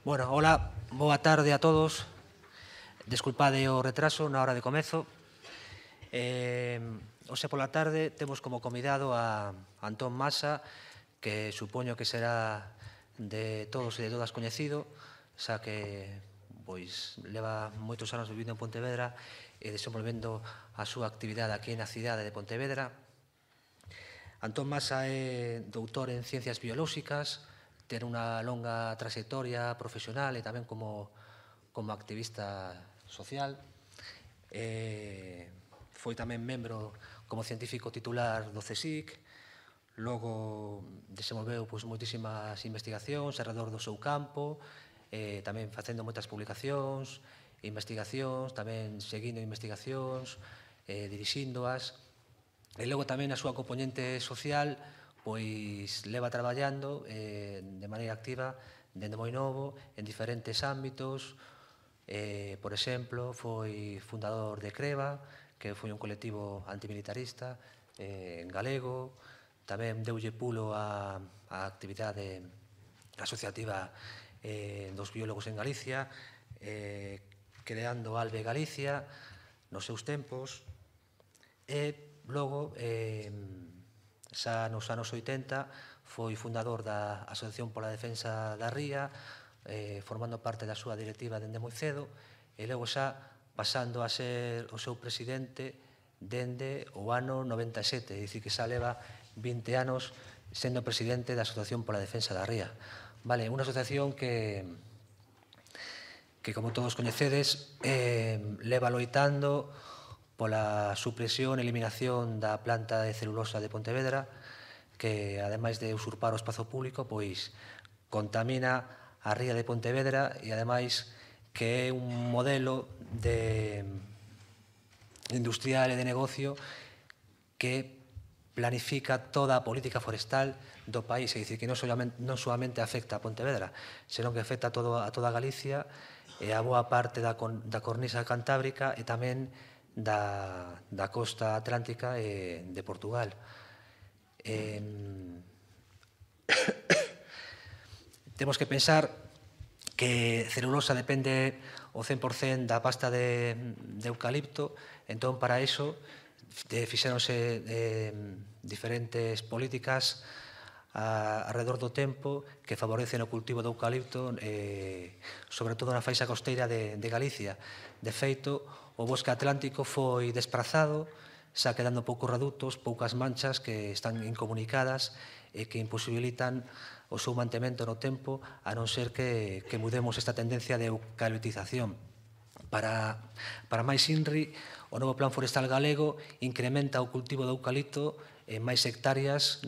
Bueno, hola, boa tarde a todos. Desculpade o retraso na hora de comezo. Hoxe pola tarde temos como convidado a Antón Masa, que supoño que será de todos e de todas coñecido, xa que leva moitos anos vivindo en Pontevedra e desenvolvendo a súa actividade aquí na cidade de Pontevedra. Antón Masa é doutor en Ciencias Biolóxicas, ten unha longa trayectoria profesional e tamén como activista social. Foi tamén membro como científico titular do CSIC, logo desenvolveu moitísimas investigacións alrededor do seu campo, tamén facendo moitas publicacións, investigacións, tamén seguindo investigacións, dirixíndoas. E logo tamén a súa componente social leva traballando de maneira activa dende moi novo en diferentes ámbitos. Por exemplo, foi fundador de CREVA, que foi un colectivo antimilitarista galego. Tamén deulle pulo á actividade asociativa dos biólogos en Galicia, creando Albe Galicia nos seus tempos. E logo, xa nos anos 80, foi fundador da Asociación pola Defensa da Ría, formando parte da súa directiva dende moi cedo, e logo xa pasando a ser o seu presidente dende o ano 97, é dicir, que xa leva 20 anos sendo presidente da Asociación pola Defensa da Ría. Vale, unha asociación que como todos coñecedes, leva loitando pola supresión e eliminación da planta de celulosa de Pontevedra, que, ademais de usurpar o espazo público, contamina a ría de Pontevedra e, ademais, que é un modelo industrial e de negocio que planifica toda a política forestal do país, é dicir, que non solamente afecta a Pontevedra, senón que afecta a toda Galicia e a boa parte da cornisa cantábrica e tamén da costa atlántica de Portugal. Temos que pensar que celulosa depende o 100% da pasta de eucalipto, entón para iso fixéronse diferentes políticas alrededor do tempo que favorecen o cultivo do eucalipto, sobre todo na faixa costeira de Galicia. De feito, o bosque atlántico foi desprazado, xa quedando poucos redutos, poucas manchas que están incomunicadas e que imposibilitan o seu mantemento no tempo, a non ser que mudemos esta tendencia de eucaliptización. Para máis INRI, o novo Plan Forestal Galego incrementa o cultivo do eucalipto en máis hectáreas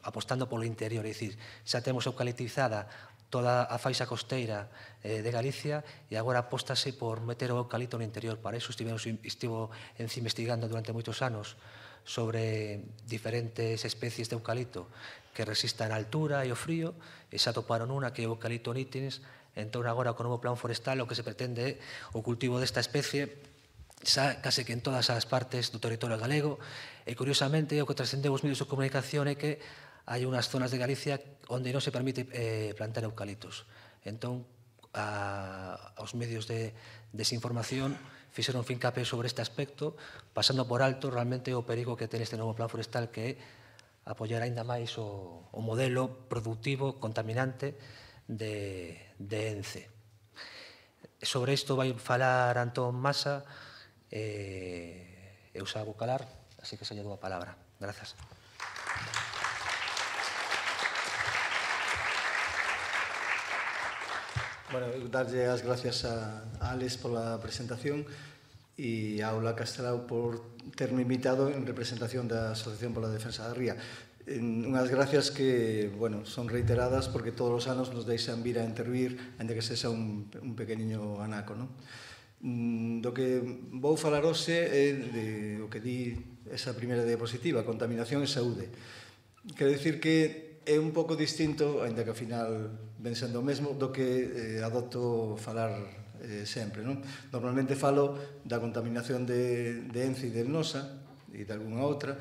apostando polo interior, é dicir, xa temos eucaliptizada toda a faixa costeira de Galicia e agora apóstase por meter o eucalipto no interior. Para iso estivo investigando durante moitos anos sobre diferentes especies de eucalipto que resistan a altura e o frío, e xa toparon unha que é o eucalipto nitens. Entón, agora, co novo plan forestal, o que se pretende é o cultivo desta especie xa case que en todas as partes do territorio galego. E, curiosamente, o que trascendeu os medios de comunicación é que hai unhas zonas de Galicia onde non se permite plantar eucaliptos. Entón, os medios de desinformación fixeron fincapé sobre este aspecto, pasando por alto realmente o perigo que ten este novo plan forestal, que é apoiar aínda máis o modelo productivo contaminante de ENCE. Sobre isto vai falar Antón Masa, eu xa vou calar, así que xa lle dou a palabra. Grazas. Bueno, darlle as gracias a Alex pola presentación e a Aula Castelao por terme invitado en representación da Asociación pola Defensa da Ría. Unhas gracias que, bueno, son reiteradas porque todos os anos nos deixan vir a intervir, ainda que sexa un pequeniño anaco, non? Do que vou falar hoxe é de o que di esa primeira diapositiva, contaminación e saúde. Quero dicir que é un pouco distinto, ainda que ao final ven sendo o mesmo, do que adopto falar sempre, non? Normalmente falo da contaminación de ENCE e de Nosa e de algunha outra,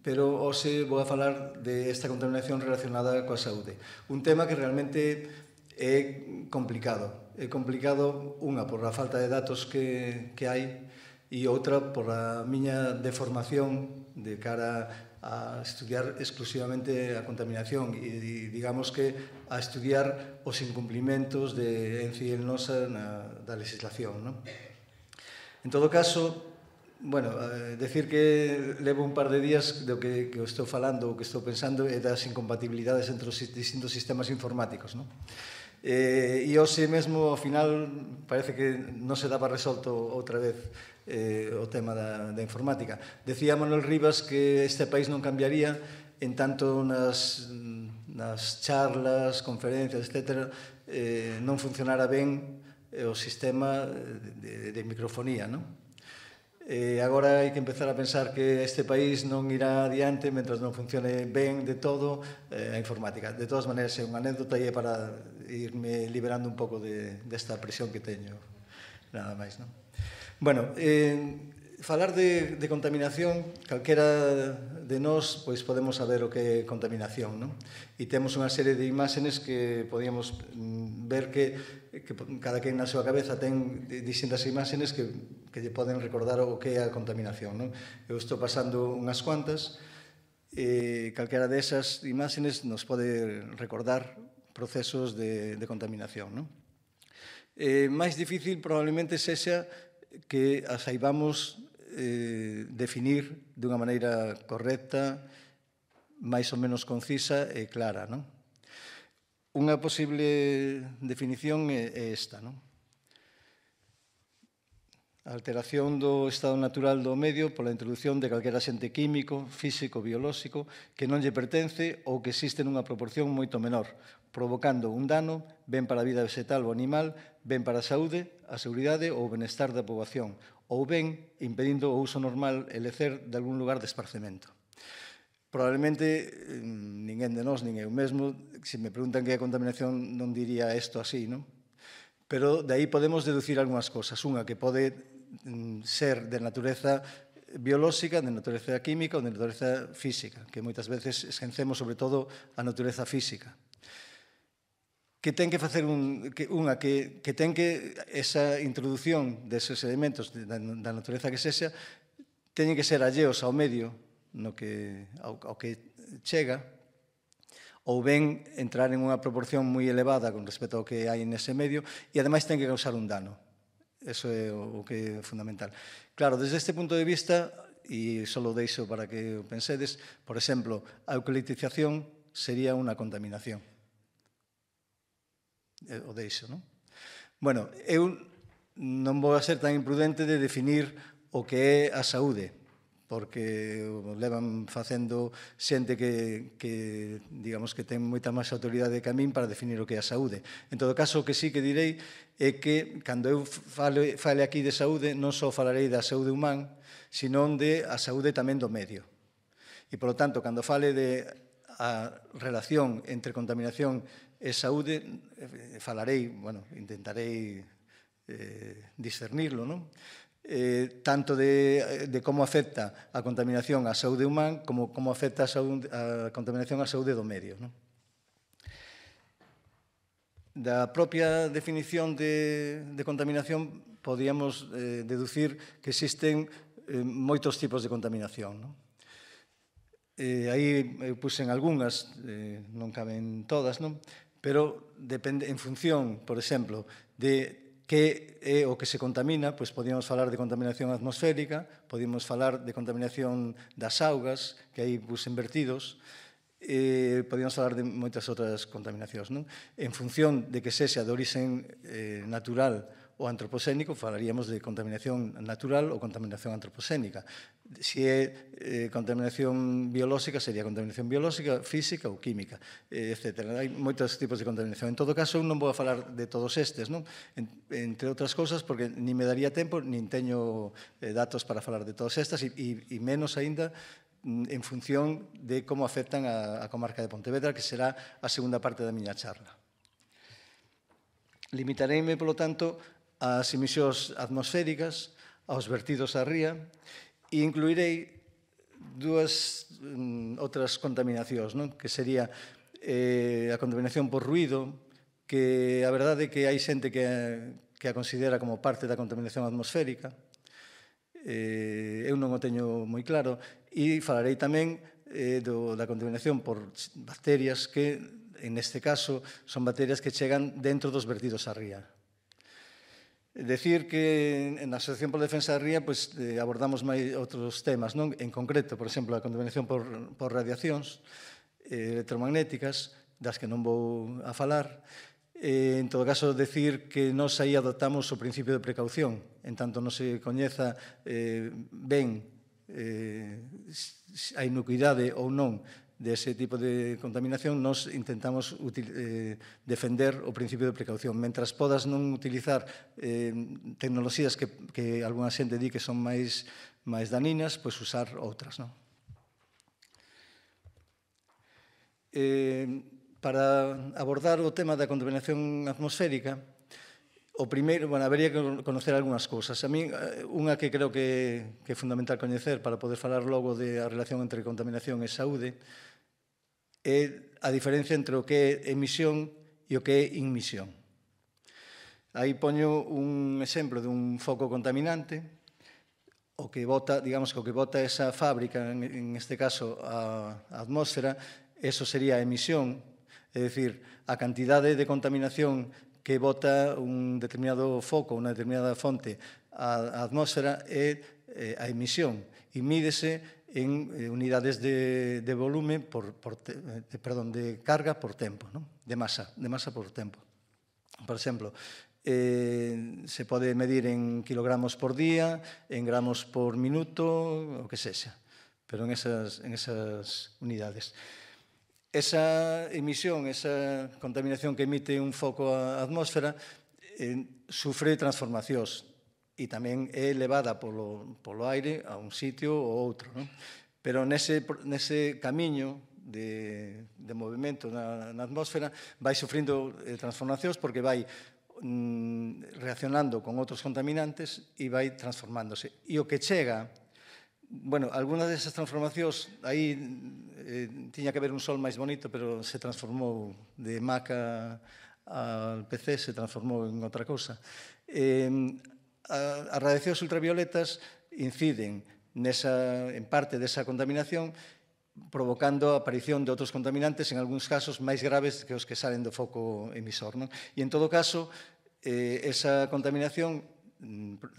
pero hoxe vou a falar de esta contaminación relacionada coa saúde. Un tema que realmente é complicado. É complicado, unha, por a falta de datos que hai, e outra, por a miña deformación de cara a estudiar exclusivamente a contaminación e digamos que a estudiar os incumplimentos de Ence e Elnosa da legislación, non? En todo caso, bueno, decir que levo un par de días do que estou falando, o que estou pensando é das incompatibilidades entre os distintos sistemas informáticos, non? E hoxe mesmo, ao final, parece que non se daba resolto outra vez o tema da informática. Decía Manuel Rivas que este país non cambiaría en tanto nas charlas, conferencias, etc., non funcionara ben o sistema de microfonía, non? Agora hai que empezar a pensar que este país non irá adiante mentras non funcione ben de todo a informática. De todas maneiras, é unha anécdota e é para irme liberando un pouco desta presión que teño, nada máis, non? Bueno, falar de contaminación, calquera de nós pois podemos saber o que é contaminación, non? E temos unha serie de imágenes que podíamos ver que cada quen na súa cabeza ten distintas imágenes que lle poden recordar o que é a contaminación, non? Eu estou pasando unhas cuantas e calquera desas imágenes nos pode recordar procesos de contaminación, non? Máis difícil probablemente sexa que as saibamos definir dunha maneira correcta, máis ou menos concisa e clara, non? Unha posible definición é esta, non? A alteración do estado natural do medio pola introducción de calquera xente químico, físico, biolóxico que non lle pertence ou que existe nunha proporción moito menor, provocando un dano ben para a vida vegetal ou animal, ben para a saúde, a seguridade ou o benestar da poboación, ou ben impedindo o uso normal e lecer de algún lugar de esparcemento. Probablemente ninguén de nós, nin eu mesmo, se me preguntan que é a contaminación, non diría isto así, non? Pero de aí podemos deducir algunhas cosas. Unha que pode ser de natureza biolóxica, de natureza química ou de natureza física, que moitas veces esquecemos sobre todo a natureza física. Que ten que facer unha que ten que esa introducción deses elementos da natureza que sexa teñen que ser alleos ao medio ao que chega, ou ben entrar en unha proporción moi elevada con respecto ao que hai nese medio e ademais ten que causar un dano. Eso é o que é fundamental. Claro, desde este punto de vista, e só lo deixo para que o pensedes, por exemplo, a eucaliptización sería unha contaminación. O deixo, non? Bueno, eu non vou a ser tan imprudente de definir o que é a saúde, porque levan facendo xente que digamos que ten moita máis autoridade que a min para definir o que é a saúde. En todo caso, o que sí que direi é que cando eu fale aquí de saúde, non só falarei da saúde humana, senón de a saúde tamén do medio. E, polo tanto, cando fale de a relación entre contaminación e saúde, falarei, bueno, intentarei discernirlo, non? Tanto de como afecta a contaminación á saúde humana como como afecta a contaminación á saúde do medio, non? Da propia definición de contaminación podíamos deducir que existen moitos tipos de contaminación, non? Aí eu puxen algunhas, non caben todas, non? Pero depende, en función, por exemplo, de que é o que se contamina, pois podíamos falar de contaminación atmosférica, podíamos falar de contaminación das augas, que hai puxen vertidos, podíamos falar de moitas outras contaminacións, non? En función de que sexa de orixen natural ou antroposénico, falaríamos de contaminación natural ou contaminación antroposénica. Se é contaminación biolóxica, sería contaminación biolóxica, física ou química, etc. Hai moitos tipos de contaminación. En todo caso, eu non vou a falar de todos estes, non? Entre outras cousas, porque nin me daría tempo, nin teño datos para falar de todas estas, e menos aínda en función de como afectan a comarca de Pontevedra, que será a segunda parte da miña charla. Limitareime, polo tanto, ás emisións atmosféricas, aos vertidos á ría, e incluirei dúas outras contaminacións, non? Que sería a contaminación por ruído, que a verdade é que hai xente que a considera como parte da contaminación atmosférica. Eu non o teño moi claro, e falarei tamén da contaminación por bacterias que, en este caso, son bacterias que chegan dentro dos vertidos á ría. Decir que na Asociación pola Defensa da Ría abordamos máis outros temas, non? En concreto, por exemplo, a contaminación por radiacións electromagnéticas, das que non vou a falar. En todo caso, decir que nós aí adoptamos o principio de precaución, en tanto non se coñeza ben a inocuidade ou non dese tipo de contaminación, nós intentamos defender o principio de precaución. Mentras podas non utilizar tecnoloxías que algunha xente di que son máis daninas, pois usar outras, non? Para abordar o tema da contaminación atmosférica, o primeiro, habería que conocer algunhas cousas. A mí, unha que creo que é fundamental coñecer para poder falar logo da relación entre contaminación e saúde é a diferencia entre o que é emisión e o que é inmisión. Aí poño un exemplo dun foco contaminante, o que bota, digamos que o que bota esa fábrica, en este caso a atmósfera, eso sería a emisión. É dicir, a cantidade de contaminación que bota un determinado foco, unha determinada fonte á atmósfera é a emisión e mídese en unidades de volume de carga por tempo, de masa por tempo. Por exemplo, se pode medir en kilogramos por día, en gramos por minuto, o que sexa, pero en esas unidades. Esa emisión, esa contaminación que emite un foco á atmósfera sufre transformacións e tamén é elevada polo aire a un sitio ou outro. Pero nese camiño de movimento na atmósfera vai sufrindo transformacións porque vai reaccionando con outros contaminantes e vai transformándose. E o que chega... Algunas desas transformacións, aí tiña que haber un sol máis bonito, pero se transformou de maca al PC, se transformou en outra cousa. As radiacións ultravioletas inciden en parte desa contaminación, provocando a aparición de outros contaminantes, en algúns casos máis graves que os que salen do foco emisor. E, en todo caso, esa contaminación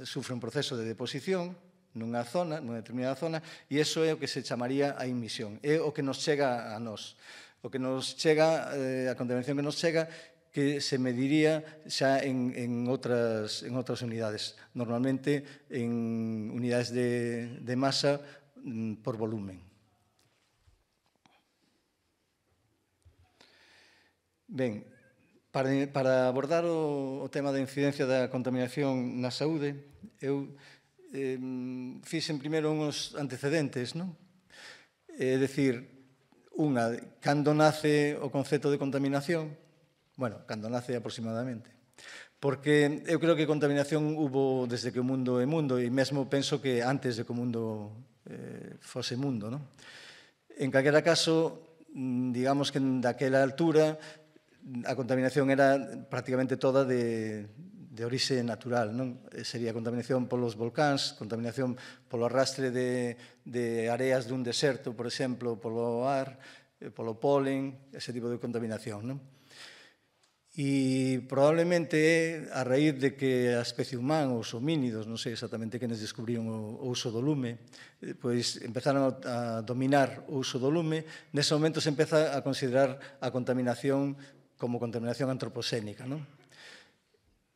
sufre un proceso de deposición nunha determinada zona, e iso é o que se chamaría a inmisión. É o que nos chega a nós. O que nos chega, a contaminación que nos chega, que se mediría xa en outras unidades, normalmente en unidades de masa por volumen. Ben, para abordar o tema da incidencia da contaminación na saúde, eu fixen primeiro uns antecedentes, non? É dicir, cando nace o concepto de contaminación? Cando nace aproximadamente. Porque eu creo que contaminación hubo desde que o mundo é mundo, e mesmo penso que antes de que o mundo fose mundo, non? En calquera caso, digamos que daquela altura a contaminación era prácticamente toda de orixe natural, non? Sería contaminación polos volcáns, contaminación polo arrastre de areas dun deserto, por exemplo, polo ar, polo polen, ese tipo de contaminación, non? E probablemente é a raíz de que a especie humana, os homínidos, non sei exactamente quenes descubriron o uso do lume, pois empezaron a dominar o uso do lume, nese momento se empeza a considerar a contaminación como contaminación antropoxénica, non?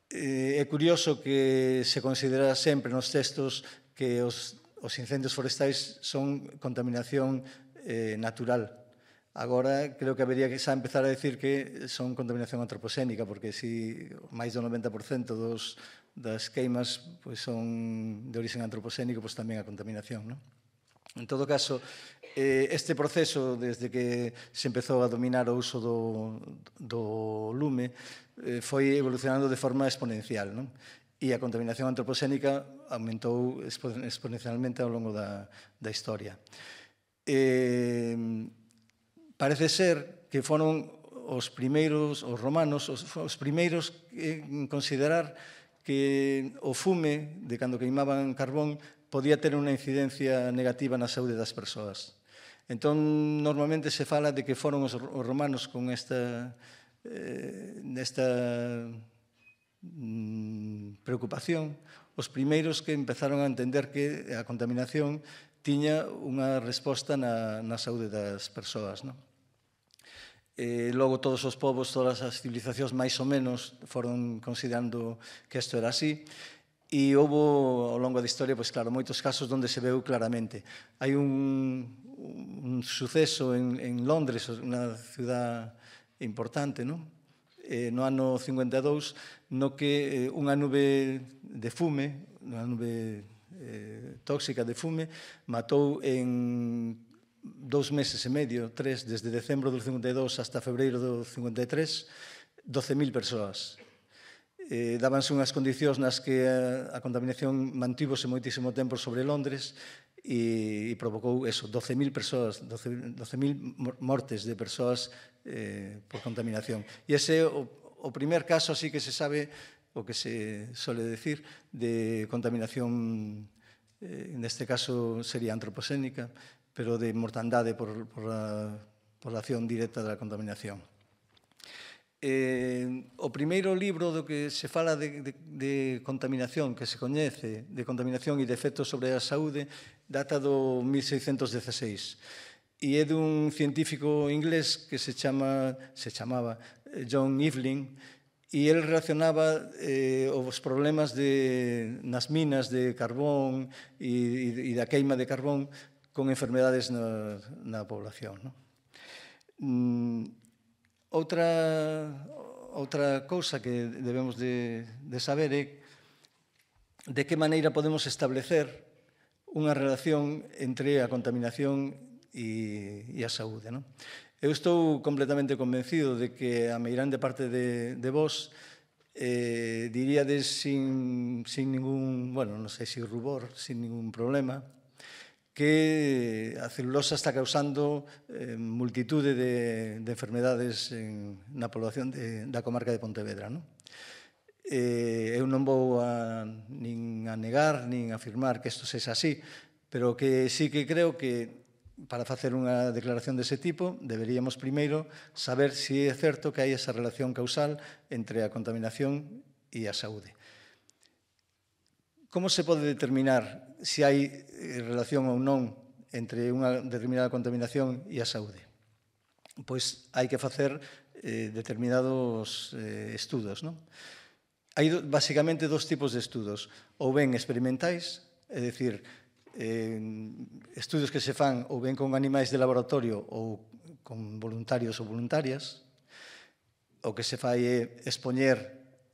É curioso que se considera sempre nos textos que os incendios forestais son contaminación natural. Agora, creo que habería que xa empezar a decir que son contaminación antropoxénica, porque si máis do 90% das queimas son de origen antropoxénico, tamén a contaminación, non? En todo caso, este proceso, desde que se empezou a dominar o uso do lume, foi evolucionando de forma exponencial, non? E a contaminación antropoxénica aumentou exponencialmente ao longo da historia. Parece ser que foron os romanos, os primeiros en considerar que o fume de cando queimaban carbón podía ter unha incidencia negativa na saúde das persoas. Entón, normalmente se fala de que foron os romanos con esta preocupación, os primeiros que empezaron a entender que a contaminación tiña unha resposta na saúde das persoas. Logo, todos os povos, todas as civilizacións, máis ou menos, foron considerando que isto era así. E houve, ao longo da historia, claro, moitos casos onde se veu claramente. Hai un suceso en Londres, unha ciudad importante, no ano 52, no que unha nube de fume, unha nube tóxica de fume, matou en 2 meses e medio, 3, desde decembro do 52 hasta febreiro do 53, 12.000 persoas. Dábanse unhas condicións nas que a contaminación mantívose moitísimo tempo sobre Londres e provocou eso, 12.000 persoas, 12.000 mortes de persoas por contaminación. E ese é o primer caso así que se sabe, o que se suele decir, de contaminación, neste caso sería antroposénica, pero de mortandade por a acción directa da contaminación. O primeiro libro do que se fala de contaminación, que se coñece, de contaminación e de efectos sobre a saúde, data do 1616. E é dun científico inglés que se chamaba John Evelyn, e ele relacionaba os problemas nas minas de carbón e da queima de carbón con enfermedades na población. Outra cousa que debemos de saber é de que maneira podemos establecer unha relación entre a contaminación e a saúde. Eu estou completamente convencido de que a meirande parte de vós diríades sin ningún, non sei se rubor, sin ningún problema, que a celulosa está causando multitude de enfermedades na población da comarca de Pontevedra. Eu non vou nin a negar, nin a afirmar que isto sexa así, pero que sí que creo que para facer unha declaración dese tipo deberíamos primeiro saber se é certo que hai esa relación causal entre a contaminación e a saúde. Como se pode determinar se hai relación ou non entre unha determinada contaminación e a saúde? Pois hai que facer determinados estudos. Hai basicamente dos tipos de estudos, ou ben experimentais, é dicir, estudos que se fan ou ben con animais de laboratorio ou con voluntarios ou voluntarias. O que se fai é expoñer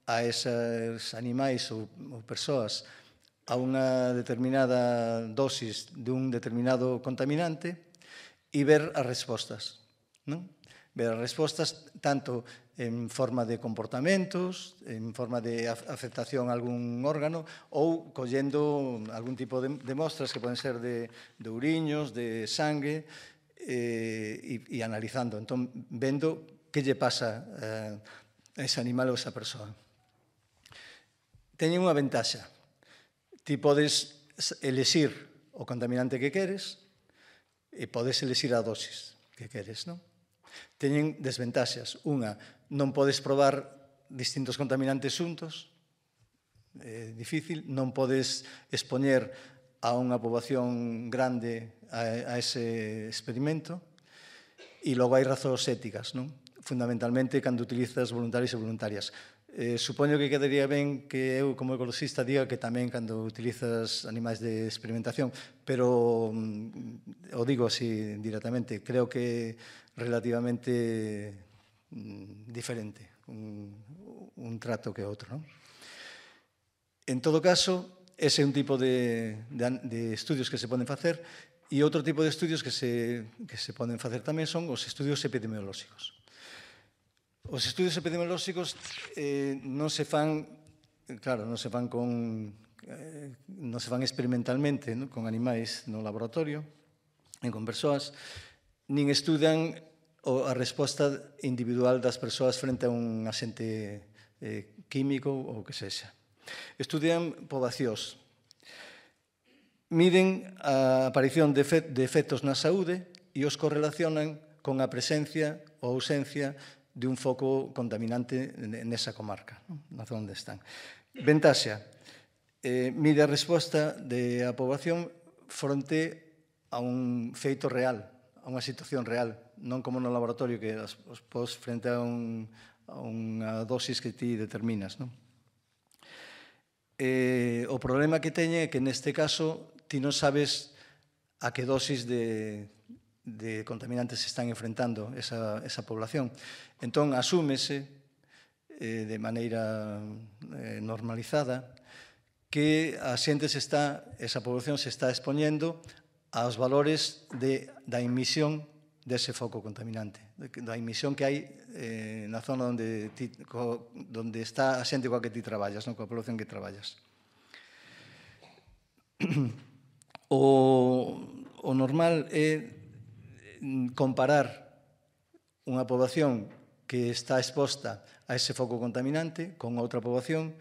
a esos animais ou persoas a unha determinada dosis dun determinado contaminante e ver as respostas. Ver as respostas tanto en forma de comportamentos, en forma de afectación a algún órgano ou collendo algún tipo de mostras que poden ser de uriños, de sangue e analizando. Entón, vendo que lle pasa a ese animal ou a esa persoa. Teñen unha ventaxa. Ti podes elixir o contaminante que queres e podes elixir a dosis que queres, non? Teñen desventaxas. Unha, non podes probar distintos contaminantes xuntos, é difícil, non podes expoñer a unha poboación grande a ese experimento, e logo hai razóns éticas, non? Fundamentalmente, cando utilizas voluntarios e voluntarias. Supoño que quedaría ben que eu, como ecoloxista, diga que tamén cando utilizas animais de experimentación, pero o digo así directamente, creo que relativamente diferente un trato que outro. En todo caso, ese é un tipo de estudios que se poden facer, e outro tipo de estudios que se poden facer tamén son os estudios epidemiolóxicos. Os estudios epidemiolóxicos non se fan, claro, non se fan experimentalmente con animais no laboratorio, nin con persoas, nin estudan a resposta individual das persoas frente a un axente químico ou que sexa. Estudian poboacións. Miden a aparición de efectos na saúde e os correlacionan con a presencia ou ausencia de un foco contaminante nesa comarca, na zona onde están. Ventaxa, mide a resposta da poboación fronte a un feito real, a unha situación real, non como no laboratorio que os pos frente a unha dosis que ti determinas. O problema que teñe é que neste caso ti non sabes a que dosis de contaminantes se están enfrentando esa población. Entón, asúmese de maneira normalizada que esa población se está expoñendo aos valores da emisión dese foco contaminante, da emisión que hai na zona onde está a xente coa que ti traballas, coa población que traballas. O normal é comparar unha poboación que está exposta a ese foco contaminante con outra poboación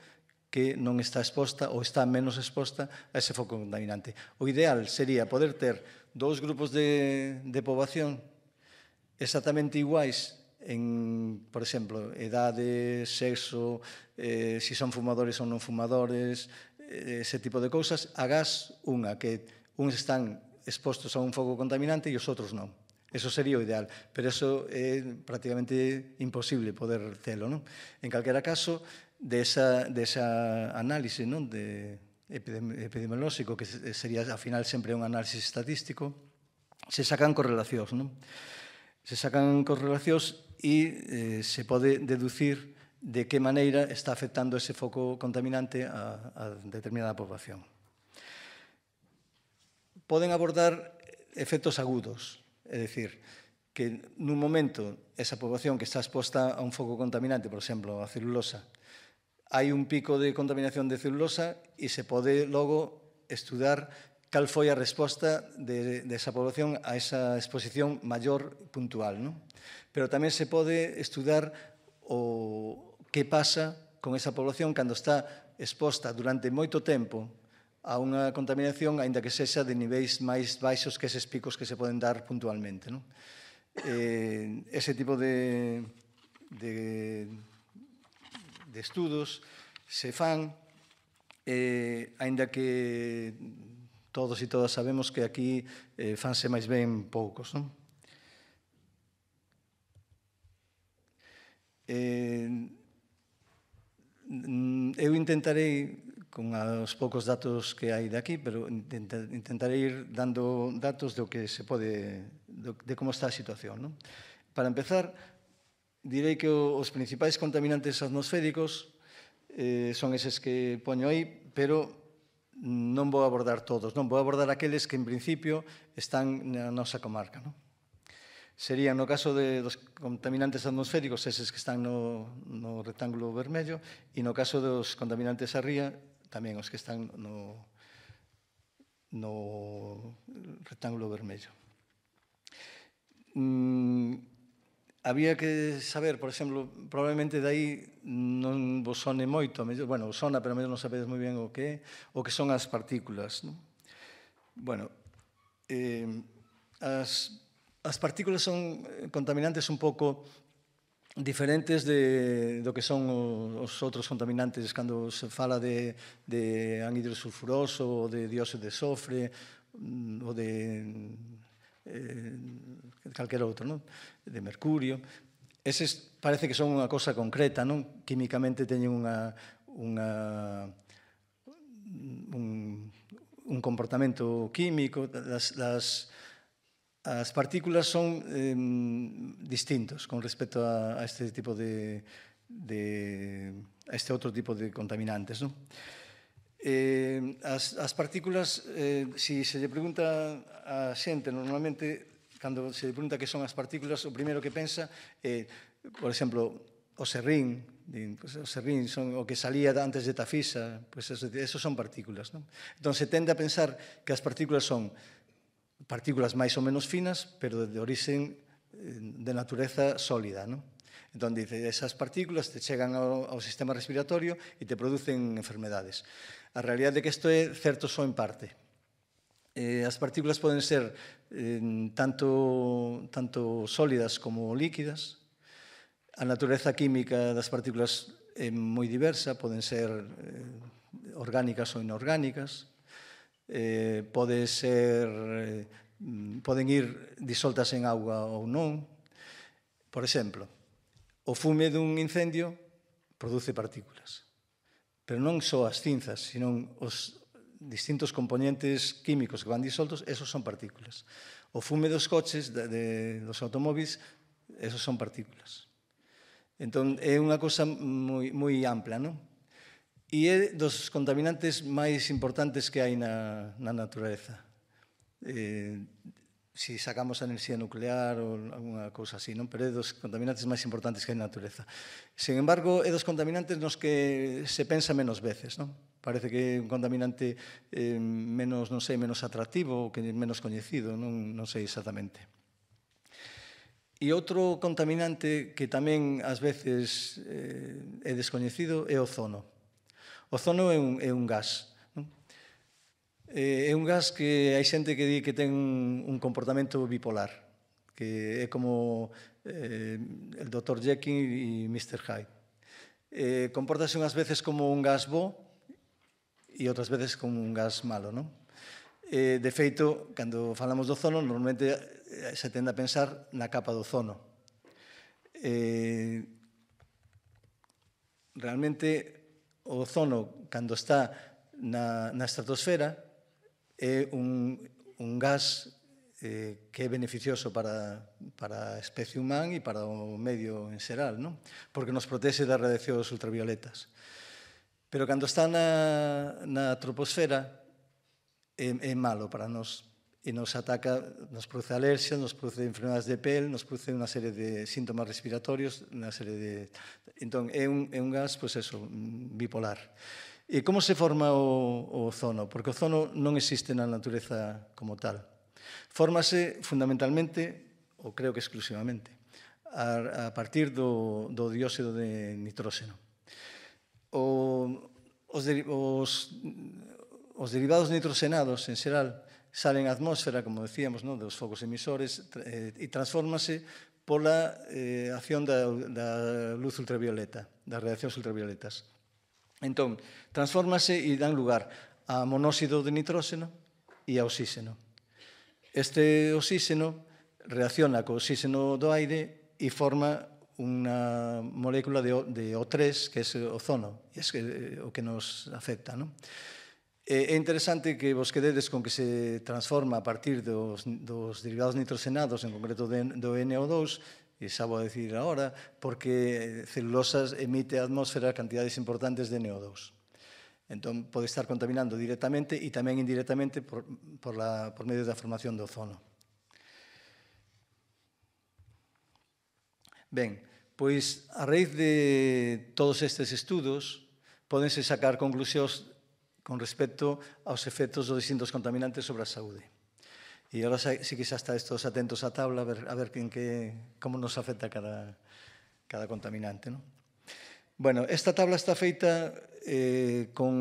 que non está exposta ou está menos exposta a ese foco contaminante. O ideal sería poder ter dous grupos de poboación exactamente iguais en, por exemplo, edade, sexo, se son fumadores ou non fumadores, ese tipo de cousas, agás unha que uns están expostos a un foco contaminante e os outros non. Eso sería o ideal, pero eso é prácticamente imposible poder telo. En calquera caso, desa análise epidemiolóxico, que sería, ao final, sempre un análisis estatístico, se sacan correlacións. Se sacan correlacións e se pode deducir de que maneira está afectando ese foco contaminante a determinada poboación. Poden abordar efectos agudos, é dicir, que nun momento esa poboación que está exposta a un foco contaminante, por exemplo, a celulosa, hai un pico de contaminación de celulosa e se pode logo estudar cal foi a resposta desa poboación a esa exposición maior puntual. Pero tamén se pode estudar o que pasa con esa poboación cando está exposta durante moito tempo a unha contaminación, aínda que sexa de niveis máis baixos que eses picos que se poden dar puntualmente. Ese tipo de estudos se fan, aínda que todos e todas sabemos que aquí fanse máis ben poucos. Eu intentarei, con os poucos datos que hai de aquí, pero intentarei ir dando datos do que se pode, de como está a situación. Para empezar, direi que os principais contaminantes atmosféricos son eses que poño aí, pero non vou abordar todos, non vou abordar aqueles que en principio están na nosa comarca. Serían, no caso dos contaminantes atmosféricos, eses que están no rectángulo vermello, e no caso dos contaminantes a ría, tamén os que están no rectángulo vermello. Había que saber, por exemplo, probablemente dai non vos sone moito, bueno, sona, pero mellor non sabedes moi ben o que son as partículas. Bueno, as partículas son contaminantes un pouco diferentes do que son os outros contaminantes cando se fala de anhídrido sulfuroso ou de dióxido de sofre ou de calquera outro, de mercurio. Eses parece que son unha cosa concreta, químicamente teñen un comportamento químico. As partículas son distintos con respecto a este tipo a este outro tipo de contaminantes. As partículas, se lle pregunta a xente, normalmente, cando se lle pregunta que son as partículas, o primeiro que pensa é, por exemplo, o serrín. O serrín son o que salía antes de Tafisa, esos son partículas. Entón, se tende a pensar que as partículas son partículas máis ou menos finas, pero de origen de natureza sólida, non? Entón, dice, esas partículas te chegan ao sistema respiratorio e te producen enfermedades. A realidade é que isto é certo só en parte. As partículas poden ser tanto sólidas como líquidas. A natureza química das partículas é moi diversa, poden ser orgánicas ou inorgánicas, poden ir disoltas en auga ou non. Por exemplo, o fume dun incendio produce partículas, pero non só as cinzas, sino os distintos componentes químicos que van disoltos, esos son partículas. O fume dos coches, dos automóviles, esos son partículas. Entón, é unha cosa moi ampla, non? E é dos contaminantes máis importantes que hai na natureza. Si sacamos a enerxía nuclear ou alguna cousa así, non? Pero é dos contaminantes máis importantes que hai na natureza. Sin embargo, é dos contaminantes nos que se pensa menos veces, non? Parece que é un contaminante menos, non sei, menos atractivo ou que é menos coñecido, non sei exactamente. E outro contaminante que tamén ás veces é descoñecido é o ozono. O ozono é un gas. É un gas que hai xente que di que ten un comportamento bipolar, que é como el Dr. Jekyll e Mr. Hyde. Compórtase unhas veces como un gas bo e outras veces como un gas malo, non? De feito, cando falamos do ozono, normalmente se tende a pensar na capa do ozono. Realmente, o ozono, cando está na estratosfera, é un gas que é beneficioso para a especie humana e para o medio en xeral, non? Porque nos protexe das radiacións ultravioletas. Pero cando está na troposfera é malo para nós e nos ataca, nos produce alerxias, nos produce enfermedades de pel, nos produce unha serie de síntomas respiratorios, unha serie de... Entón, é un gas, pois eso, bipolar. E como se forma o ozono? Porque o ozono non existe na natureza como tal. Fórmase fundamentalmente, ou creo que exclusivamente, a partir do dióxido de nitróxeno. Os derivados nitroxenados, en xeral, salen á atmósfera, como decíamos, dos focos emisores, e transfórmase pola acción da luz ultravioleta, das radiacións ultravioletas. Entón, transfórmase e dan lugar a monóxido de nitróxeno e a oxíxeno. Este oxíxeno reacciona co oxíxeno do aire e forma unha molécula de O3, que é o ozono, e é o que nos afecta, non? É interesante que vos quededes con que se transforma a partir dos derivados nitroxenados, en concreto do NO2, e xa vou a decir agora, porque celulosas emite á atmósfera cantidades importantes de NO2. Entón, pode estar contaminando directamente e tamén indirectamente por medio da formación do ozono. Ben, pois, a raíz de todos estes estudos, pódense sacar conclusións con respecto aos efectos dos distintos contaminantes sobre a saúde. E agora sí que xa estáis todos atentos á tabla a ver como nos afecta cada contaminante, non? Bueno, esta tabla está feita con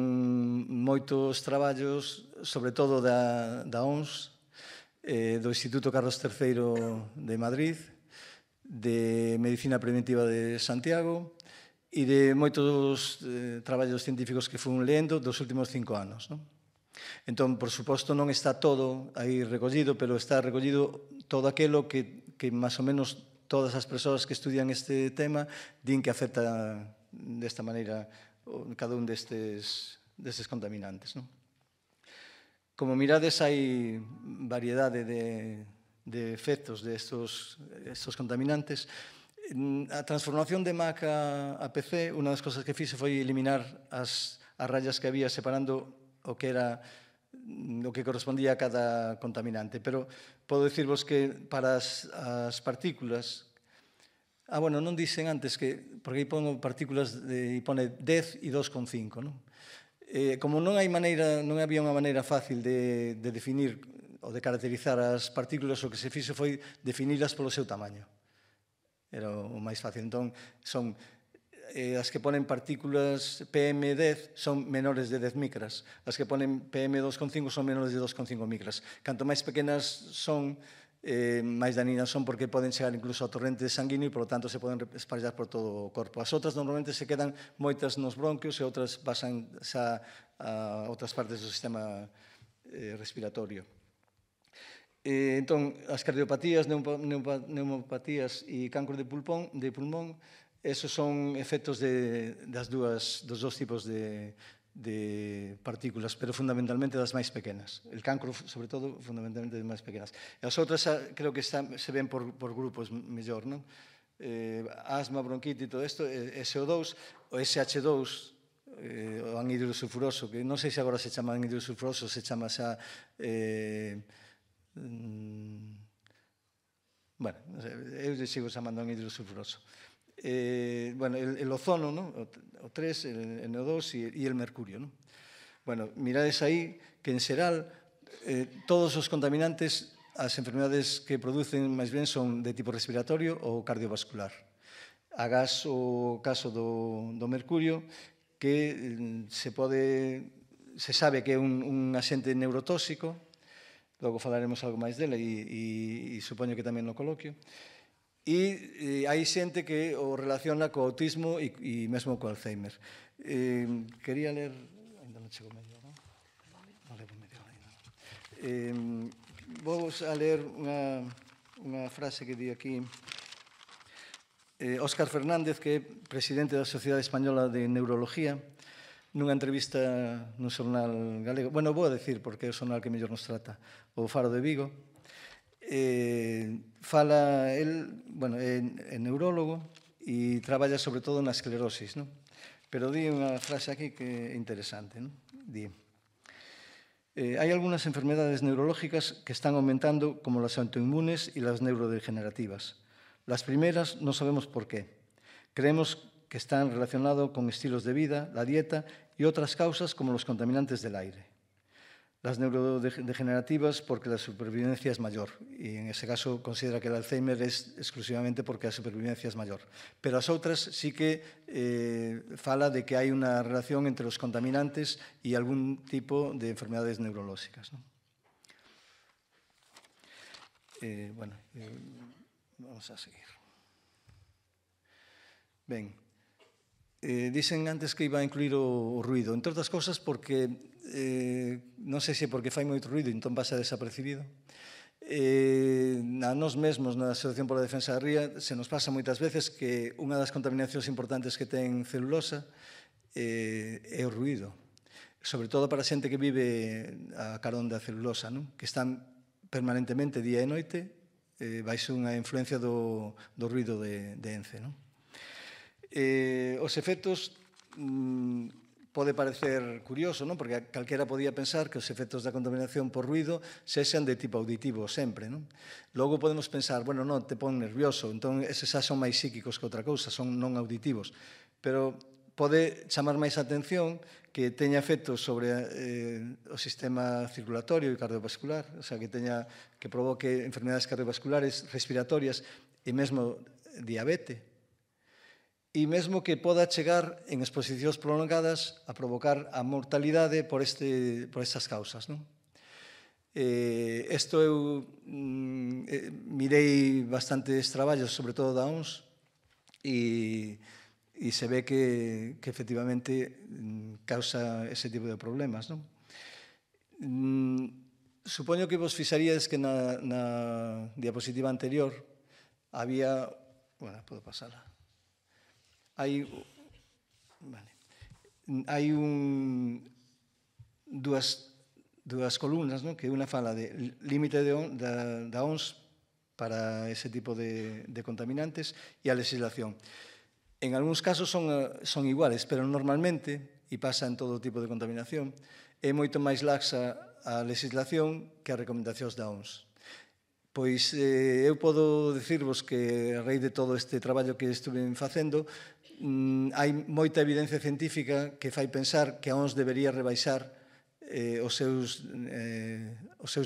moitos traballos, sobre todo da OMS, do Instituto Carlos III de Madrid, de Medicina Preventiva de Santiago e de moitos traballos científicos que fun lendo dos últimos 5 anos, non? Entón, por suposto, non está todo aí recollido, pero está recollido todo aquilo que máis ou menos todas as persoas que estudian este tema din que afecta desta maneira cada un destes contaminantes, non? Como mirades, hai variedade de efectos destos contaminantes. A transformación de MAC a PC, unha das cosas que fixe foi eliminar as rayas que había separando o que era o que correspondía a cada contaminante. Pero podo dicirvos que para as partículas... bueno, non dixen antes que... Porque aí pongo partículas e pone 10 e 2,5, non? Como non había unha maneira fácil de definir de caracterizar as partículas, o que se fixo foi definilas polo seu tamaño. Era o máis fácil. Entón, son as que ponen partículas PM10 son menores de 10 micras. As que ponen PM2,5 son menores de 2,5 micras. Canto máis pequenas son, máis daninas son, porque poden chegar incluso ao torrente sanguíneo e, por lo tanto, se poden espallar por todo o corpo. As outras normalmente se quedan moitas nos bronquios e outras pasan xa a outras partes do sistema respiratorio. Entón, as cardiopatías, neumopatías e cancro de pulmón, esos son efectos dos dous tipos de partículas, pero fundamentalmente das máis pequenas. El cancro, sobre todo, fundamentalmente das máis pequenas. E as outras creo que se ven por grupos mellor, non? Asma, bronquite e todo isto, SO2, o SH2, o anhídrido sulfuroso, que non sei se agora se chama anhídrido sulfuroso, se chama xa... Bueno, eu sigo chamando anhídrido sulfuroso. Bueno, el ozono, ¿no? O 3, el NO2 e el mercurio, ¿no? Bueno, mirades aí que en xeral todos os contaminantes, as enfermedades que producen máis ben son de tipo respiratorio ou cardiovascular. Agás o caso do mercurio, que se sabe que é un axente neurotóxico, logo falaremos algo máis dela e supoño que tamén no coloquio. E hai xente que o relaciona co autismo e mesmo co Alzheimer. Quería ler... Ainda non chego medio, non? Non levo medio ainda. Vou a ler unha frase que di aquí Óscar Fernández, que é presidente da Sociedade Española de Neurología, nunha entrevista nun xornal galego. Bueno, vou a decir porque é o xornal que mellor nos trata, o Faro de Vigo. Fala, é neurólogo e traballa sobre todo na esclerosis, non? Pero di unha frase aquí que é interesante, non? Di: hai algunhas enfermedades neurológicas que están aumentando, como las autoinmunes y las neurodegenerativas. Las primeras no sabemos por qué. Creemos que están relacionados con estilos de vida, la dieta y otras causas como los contaminantes del aire. Las neurodegenerativas porque la supervivencia es mayor, y en ese caso considera que el Alzheimer es exclusivamente porque la supervivencia es mayor. Pero as outras sí que fala de que hai unha relación entre os contaminantes e algún tipo de enfermedades neurolóxicas, ¿no? Bueno, vamos a seguir. Ben, dixen antes que iba a incluir o ruido, entre outras cousas porque non sei se porque fai moito ruido e entón pasa desapercibido. A nós mesmos na Asociación pola Defensa da Ría se nos pasa moitas veces que unha das contaminacións importantes que ten celulosa é o ruido, sobre todo para a xente que vive a carón da celulosa, non? Que están permanentemente día e noite baixo unha influencia do ruido de ENCE, non? Os efectos pode parecer curioso, non? Porque calquera podía pensar que os efectos da contaminación por ruido sexan de tipo auditivo sempre, non? Logo podemos pensar, bueno, non, te pon nervioso, entón eses xa son máis psíquicos que outra cousa, son non auditivos, pero pode chamar máis a atención que teña efectos sobre o sistema circulatorio e cardiovascular, o sea, que provoque enfermedades cardiovasculares, respiratorias e mesmo diabetes. E mesmo que poda chegar en exposicións prolongadas a provocar a mortalidade por estas causas, non? Isto eu mirei bastantes traballos, sobre todo da OMS, e se ve que efectivamente causa ese tipo de problemas, non? Supoño que vos fixaríades que na diapositiva anterior había... Bueno, podo pasala. Hai dúas columnas, non? Que unha fala de límite da OMS para ese tipo de contaminantes e a legislación. En algúns casos son iguales, pero normalmente, e pasa en todo tipo de contaminación, é moito máis laxa a legislación que as recomendacións da OMS. Pois eu podo dicirvos que a raíz de todo este traballo que estuve facendo hai moita evidencia científica que fai pensar que a OMS debería rebaixar os seus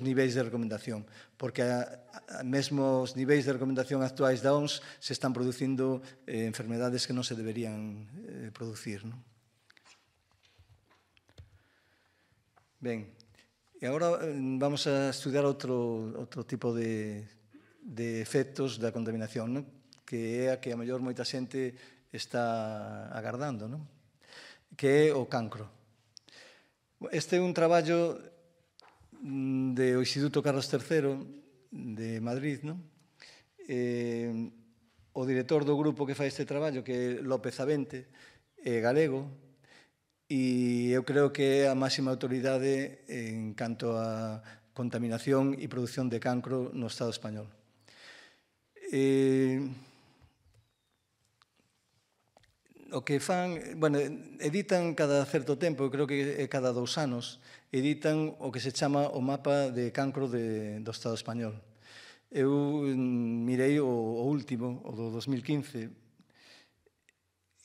niveis de recomendación, porque mesmo os niveis de recomendación actuais da OMS se están producindo enfermedades que non se deberían producir. Ben, e agora vamos a estudiar outro tipo de efectos da contaminación, que é a que a mellor moita xente está agardando, que é o cancro. Este é un traballo do Instituto Carlos III de Madrid. O director do grupo que fai este traballo, que é López Avente, é galego, e eu creo que é a máxima autoridade en canto a contaminación e produción de cancro no Estado español. O que fan, editan cada certo tempo, creo que é cada 2 anos, editan o que se chama o mapa de cancro do Estado español. Eu mirei o último, o do 2015,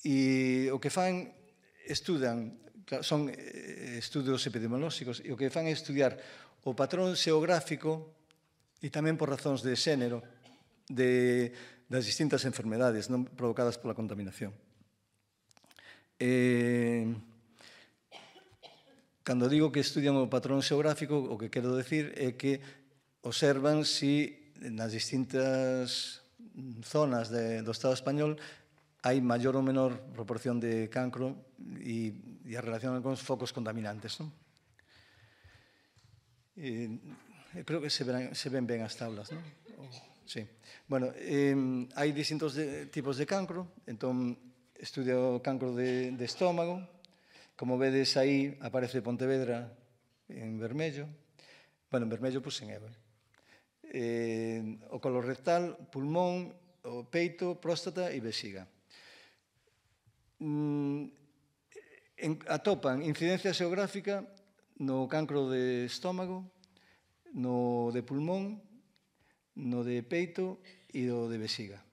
e o que fan, estudan, son estudios epidemiolóxicos, e o que fan é estudiar o patrón xeográfico e tamén por razóns de xénero das distintas enfermedades provocadas pola contaminación. Cando digo que estudian o patrón xeográfico, o que quero decir é que observan si nas distintas zonas do Estado español hai maior ou menor proporción de cancro e a relación con os focos contaminantes. Creo que se ven ben as tablas, non? Sí. Bueno, hai distintos tipos de cancro, entón estudia o cancro de estómago. Como vedes aí, aparece Pontevedra en vermello. Bueno, en vermello puxen eu. O colorectal, pulmón, o peito, próstata e vexiga. Atopan incidencia xeográfica no cancro de estómago, no de pulmón, no de peito e o de vexiga.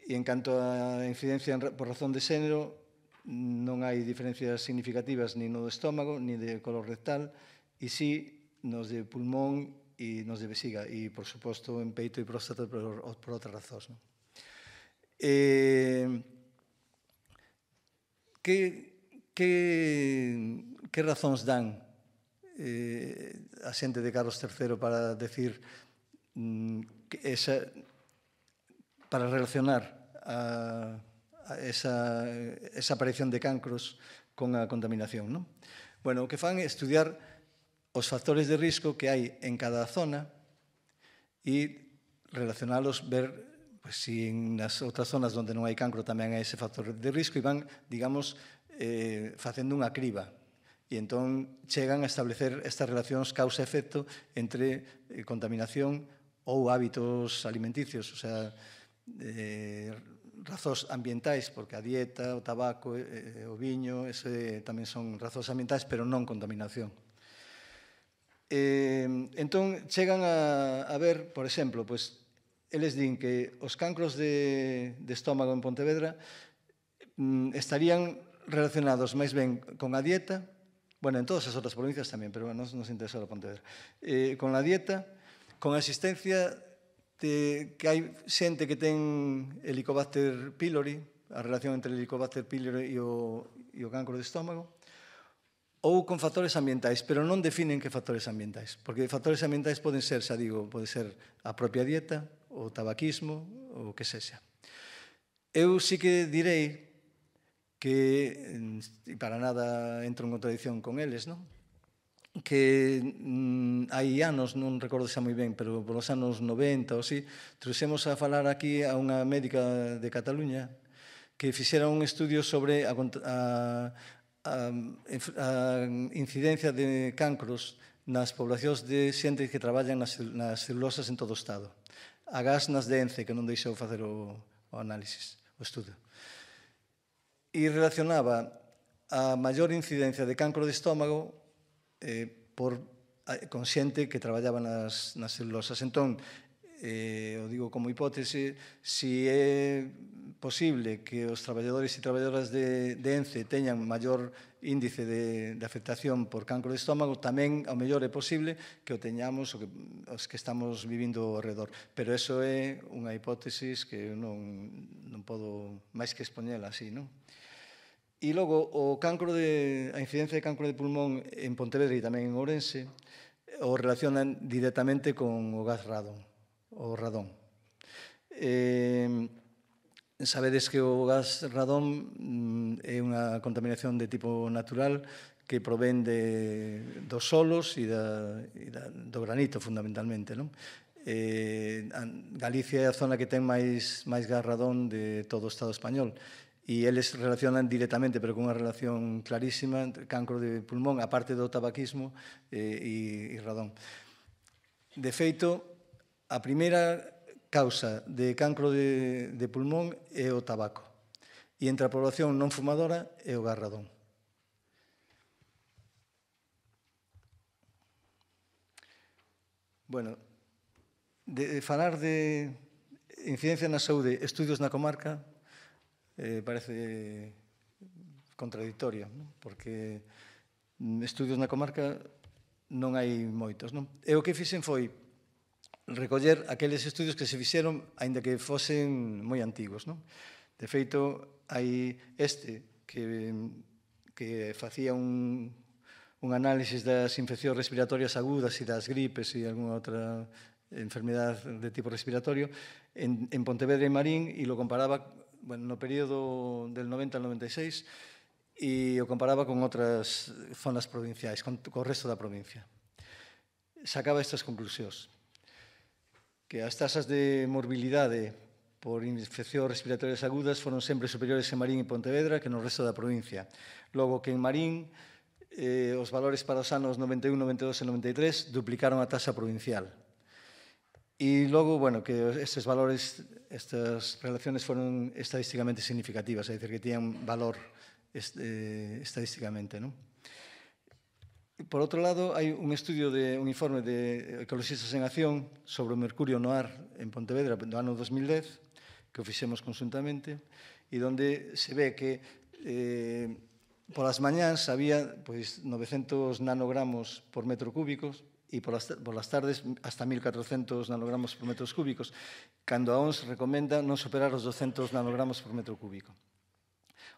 E en canto a incidencia por razón de xénero, non hai diferencias significativas ni no do estómago, ni de colorectal, e sí nos de pulmón e nos de vexiga, e, por suposto, en peito e próstata por outras razóns. Que razóns dan a xente de Carlos III para decir para relacionar esa aparición de cancros con a contaminación? Bueno, o que fan é estudiar os factores de risco que hai en cada zona e relacionalos, ver se nas outras zonas onde non hai cancro tamén hai ese factor de risco, e van, digamos, facendo unha criba. E entón chegan a establecer estas relacións causa-efecto entre contaminación ou hábitos alimenticios, o sea, razóns ambientais, porque a dieta, o tabaco, o viño, tamén son razóns ambientais, pero non contaminación. Entón, chegan a ver, por exemplo, eles din que os cancros de estómago en Pontevedra estarían relacionados máis ben con a dieta, bueno, en todas as outras provincias tamén, pero nos interesa a Pontevedra, con a dieta, con a existencia que hai xente que ten Helicobacter pylori, a relación entre el Helicobacter pylori e o cancro de estómago, ou con factores ambientais, pero non definen que factores ambientais, porque factores ambientais poden ser, xa digo, pode ser a propia dieta, o tabaquismo, o que sexa. Eu sí que direi que, e para nada entro en contradicción con eles, que hai anos, non recordo xa moi ben, pero polos anos 90 ou así, trouxemos a falar aquí a unha médica de Cataluña que fixera un estudio sobre a incidencia de cancros nas poblacións de xente que traballan nas celulosas en todo o Estado. Agás nas de ENCE, que non deixou facer o análisis, o estudo. E relacionaba a maior incidencia de cancro de estómago con xente que traballaba nas celulosas. Entón, o digo como hipótese, si é posible que os traballadores e traballadoras de ENCE teñan maior índice de afectación por cancro de estómago, tamén ao mellor é posible que o teñamos os que estamos vivindo ao redor. Pero eso é unha hipótesis que non podo máis que expoñela así, non? E logo, a incidencia de cancro de pulmón en Pontevedra e tamén en Ourense o relacionan directamente con o gas radon, o radón. Sabedes que o gas radón é unha contaminación de tipo natural que provén dos solos e do granito, fundamentalmente. Galicia é a zona que ten máis gas radón de todo o Estado español e eles relacionan directamente, pero con unha relación clarísima, entre cancro de pulmón, a parte do tabaquismo e radón. De feito, a primeira causa de cancro de pulmón é o tabaco. E entre a población non fumadora é o gas radón. Bueno, de falar de incidencia na saúde, estudios na comarca, parece contradictorio, porque estudios na comarca non hai moitos. E o que fixen foi recoller aqueles estudios que se fixeron, aínda que fosen moi antigos. De feito, hai que facía un análisis das infeccións respiratorias agudas e das gripes e algunha outra enfermedade de tipo respiratorio en Pontevedra e Marín e lo comparaba no período del 90 al 96 e o comparaba con outras zonas provinciais, co resto da provincia. Sacaba estas conclusións: que as tasas de morbilidade por infeccións respiratorias agudas foron sempre superiores en Marín e Pontevedra que no resto da provincia. Logo que en Marín os valores para os anos 91, 92 e 93 duplicaron a tasa provincial. E logo, que estes valores, estas relaciones foron estadísticamente significativas, é dicir, que tiñan valor estadísticamente, non? Por outro lado, hai un informe de Ecologistas en Acción sobre o mercurio no ar en Pontevedra do ano 2010, que o fixemos conjuntamente, e onde se ve que polas mañáns había 900 nanogramos por metro cúbico e polas tardes hasta 1400 nanogramos por metros cúbicos, cando a OMS recomenda non superar os 200 nanogramos por metro cúbico.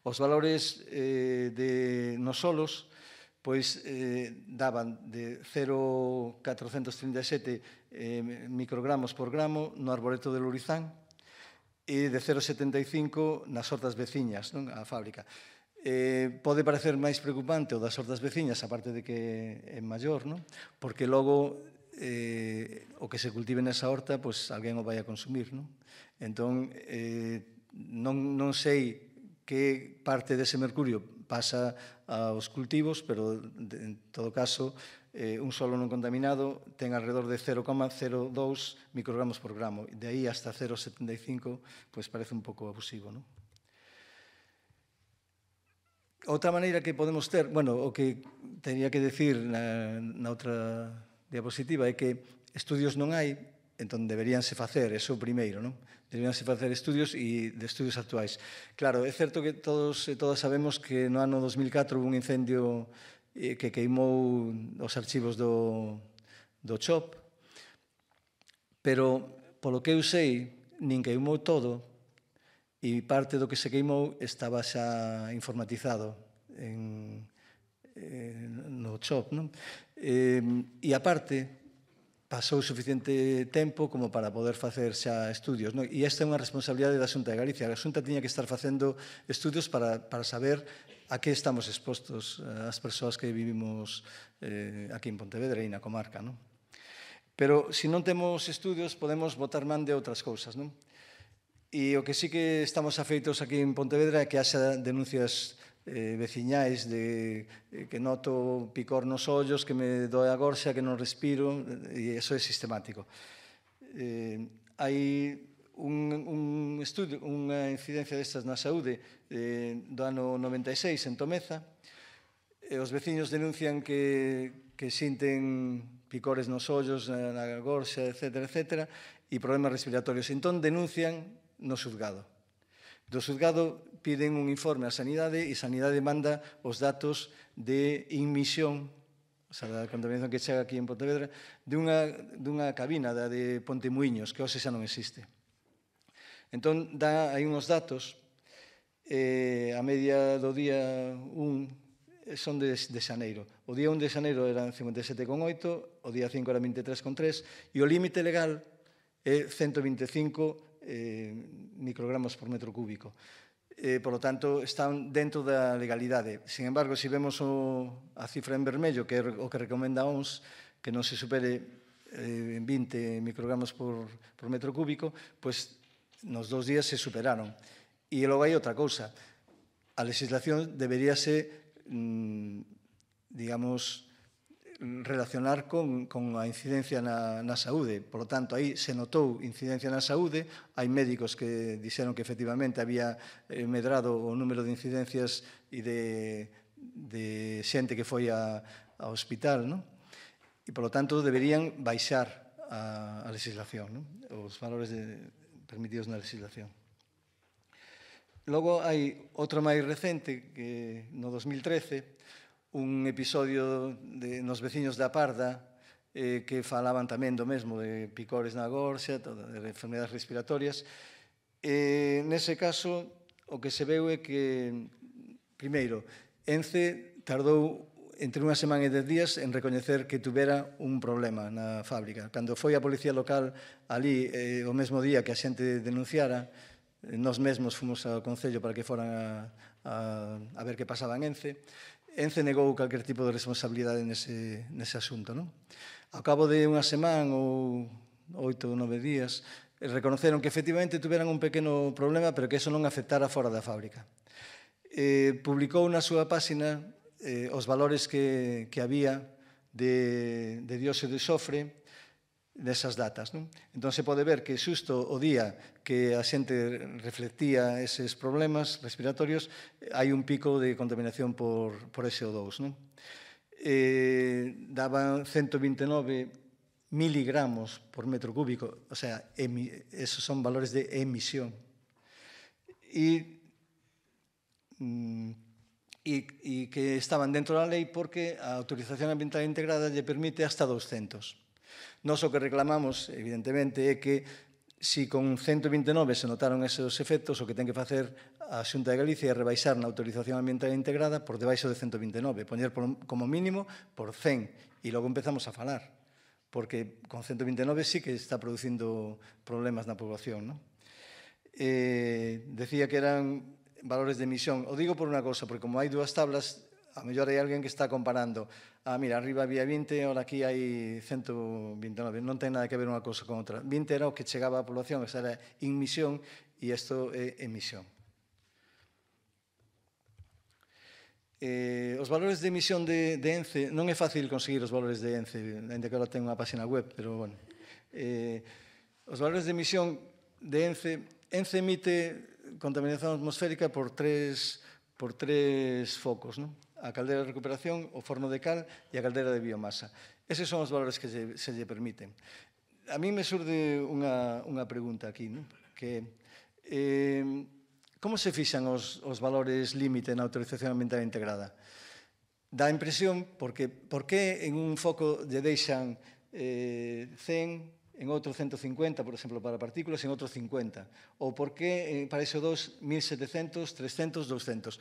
Os valores nos solos daban de 0,437 microgramos por gramo no arboreto de Lourizán e de 0,75 nas hortas veciñas, a fábrica. Pode parecer máis preocupante o das hortas veciñas, aparte de que é maior, porque logo o que se cultive nesa horta, alguén o vai a consumir. Entón, non sei que parte dese mercurio pasa aos cultivos, pero en todo caso un solo non contaminado ten alrededor de 0,02 microgramos por gramo. De aí hasta 0,75 parece un pouco abusivo. Outra maneira que podemos ter, o que teria que decir na outra diapositiva é que estudios non hai, entón deberíanse facer, eso primeiro, non? Deberíanse facer estudios e de estudios actuais. Claro, é certo que todos e todas sabemos que no ano 2004 houve un incendio que queimou os archivos do CHOP, pero polo que eu sei, nin queimou todo e parte do que se queimou estaba xa informatizado no CHOP, non? E aparte, pasou suficiente tempo como para poder facer xa estudios. E esta é unha responsabilidade da Xunta de Galicia. A Xunta tiña que estar facendo estudios para saber a que estamos expostos as persoas que vivimos aquí en Pontevedra e na comarca. Pero, se non temos estudios, podemos botar man de outras cousas. E o que sí que estamos afeitos aquí en Pontevedra é que haxa denuncias veciñais de que noto picor nos ollos, que me doe a gorxa, que non respiro, e iso é sistemático. Hai un estudio, unha incidencia destas na saúde do ano 96 en Tomeza, e os veciños denuncian que sinten picores nos ollos, na gorxa, etcétera, etcétera, e problemas respiratorios. Entón, denuncian no xuzgado. Do xuzgado piden un informe á Sanidade e Sanidade manda os datos de inmisión, o sea, da contaminación que chega aquí en Pontevedra, dunha cabina, da de Pontemuiños, que hoxe xa non existe. Entón, hai uns datos, a media do día 1 son de xaneiro. O día 1 de xaneiro eran 57,8, o día 5 era 23,3, e o límite legal é 125 microgramos por metro cúbico. Por lo tanto, están dentro da legalidade. Sin embargo, se vemos a cifra en vermello, que é o que recomenda a OMS, que non se supere 20 microgramos por metro cúbico, pois nos 2 días se superaron. E logo hai outra cousa. A legislación deberíase, digamos, relacionar con a incidencia na saúde. Por lo tanto, aí se notou incidencia na saúde, hai médicos que dixeron que efectivamente había medrado o número de incidencias e de xente que foi ao hospital, non? E, por lo tanto, deberían baixar a legislación, non? Os valores permitidos na legislación. Logo, hai outro máis recente, que no 2013, un episodio nos veciños da Parda que falaban tamén do mesmo, de picores na gorxa, de enfermedades respiratorias. Nese caso, o que se veu é que, primeiro, ENCE tardou entre unha semana e 10 días en recoñecer que tuvera un problema na fábrica. Cando foi a policía local ali, o mesmo día que a xente denunciara, nós mesmos fomos ao Concello para que foran a ver que pasaba en ENCE. ENCE negou calquer tipo de responsabilidade nese asunto. Ao cabo de unha semana ou 8 ou 9 días, reconoceron que efectivamente tuveran un pequeno problema, pero que eso non afectara fora da fábrica. Publicou na súa páxina os valores que había de dióxido de sofre desas datas. Entón, se pode ver que xusto o día que a xente reflectía eses problemas respiratorios, hai un pico de contaminación por SO2. Daban 129 miligramos por metro cúbico, o sea, esos son valores de emisión. E que estaban dentro da lei porque a autorización ambiental integrada lle permite hasta 200. Nós o que reclamamos, evidentemente, é que se con 129 se notaron esos efectos, o que ten que facer a Xunta de Galicia é rebaixar na autorización ambiental integrada por debaixo de 129, poñer como mínimo por 100, e logo empezamos a falar, porque con 129 sí que está producindo problemas na población. Decía que eran valores de emisión. O digo por unha cosa, porque como hai dúas tablas, a mellor hai alguén que está comparando. Mira, arriba había 20, ahora aquí hai 129. Non ten nada que ver unha cousa con outra. 20 era o que chegaba á población, esa era inmisión, e isto é emisión. Os valores de emisión de ENCE, non é fácil conseguir os valores de ENCE, ainda que agora ten unha página web, pero, bueno. Os valores de emisión de ENCE emite contaminación atmosférica por tres focos, a caldeira de recuperación, o forno de cal e a caldeira de biomasa. Eses son os valores que se lle permiten. A mí me surde unha pregunta aquí, que como se fixan os valores límite na autorización ambiental integrada? Dá a impresión, por que en un foco lle deixan 100, en outro 150, por exemplo, para partículas, en outro 50. Ou por que para SO2 1700, 300, 200.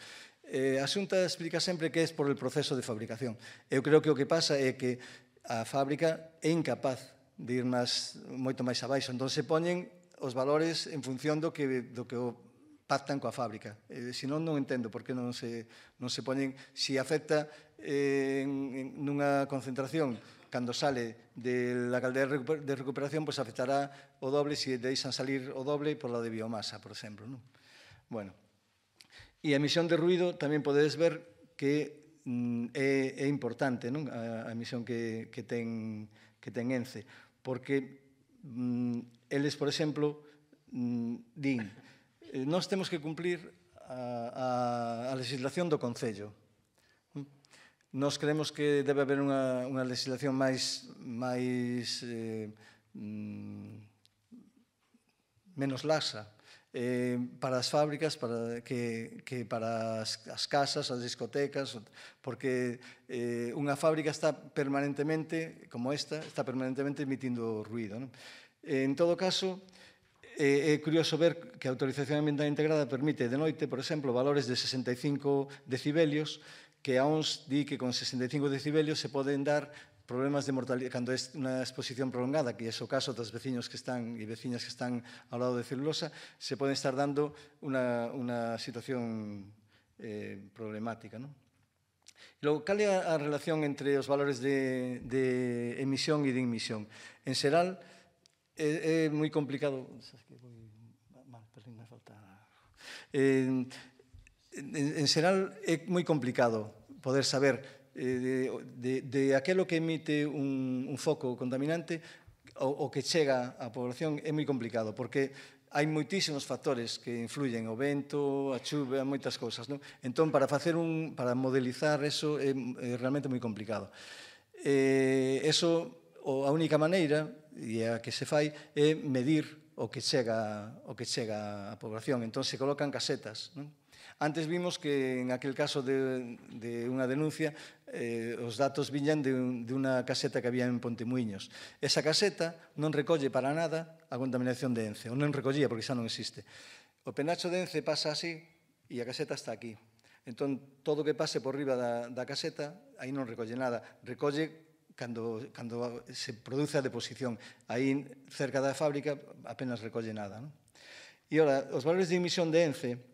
A Xunta explica sempre que é por el proceso de fabricación. Eu creo que o que pasa é que a fábrica é incapaz de ir moito máis abaixo. Entón, se poñen os valores en función do que pactan coa fábrica. Se non entendo por que non se poñen, se afecta nunha concentración cando sale de la caldeira de recuperación, pois afectará o doble se deixan salir o doble por la de biomasa, por exemplo. Bueno, e a emisión de ruído tamén podedes ver que é importante a emisión que ten ENCE, porque eles, por exemplo, din, nós temos que cumplir a legislación do Concello. Nós creemos que debe haber unha legislación máis menos laxa para as fábricas que para as casas, as discotecas, porque unha fábrica está permanentemente, como esta, está permanentemente emitindo ruído. En todo caso, é curioso ver que a autorización ambiental integrada permite de noite, por exemplo, valores de 65 decibelios, que a ONS di que con 65 decibelios se poden dar problemas de mortalidade, cando é unha exposición prolongada, que é o caso dos veciños que están e veciñas que están ao lado de celulosa, se poden estar dando unha situación problemática. Logo, cal é a relación entre os valores de emisión e de inmisión? En xeral, é moi complicado. En xeral, é moi complicado poder saber de aquelo que emite un foco contaminante o que chega á población é moi complicado, porque hai moitísimos factores que influyen, o vento, a chuva, moitas cousas, non? Entón, para modelizar eso é realmente moi complicado. A única maneira, e a que se fai, é medir o que chega á población. Entón, se colocan casetas, non? Antes vimos que en aquel caso de unha denuncia os datos viñan de unha caseta que había en Pontemuiños. Esa caseta non recolle para nada a contaminación de Ence, ou non recollía porque xa non existe. O penacho de Ence pasa así e a caseta está aquí. Entón, todo o que pase por riba da caseta, aí non recolle nada. Recolle cando se produce a deposición. Aí, cerca da fábrica, apenas recolle nada. E, ora, os valores de emisión de Ence,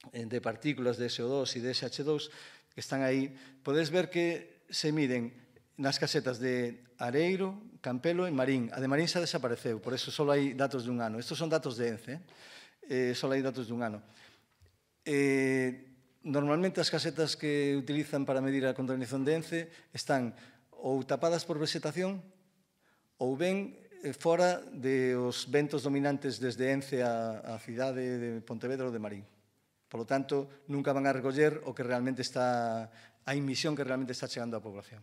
de partículas de SO2 e de SH2 que están aí, podes ver que se miden nas casetas de Areiro, Campelo e Marín. A de Marín xa desapareceu, por eso só hai datos de un ano. Estos son datos de Ence, só hai datos de un ano. Normalmente as casetas que utilizan para medir a contaminación de Ence están ou tapadas por vegetación ou ben fora dos ventos dominantes desde Ence á cidade de Pontevedra ou de Marín. Por lo tanto, nunca van a recoller o que realmente está, a emisión que realmente está chegando á población.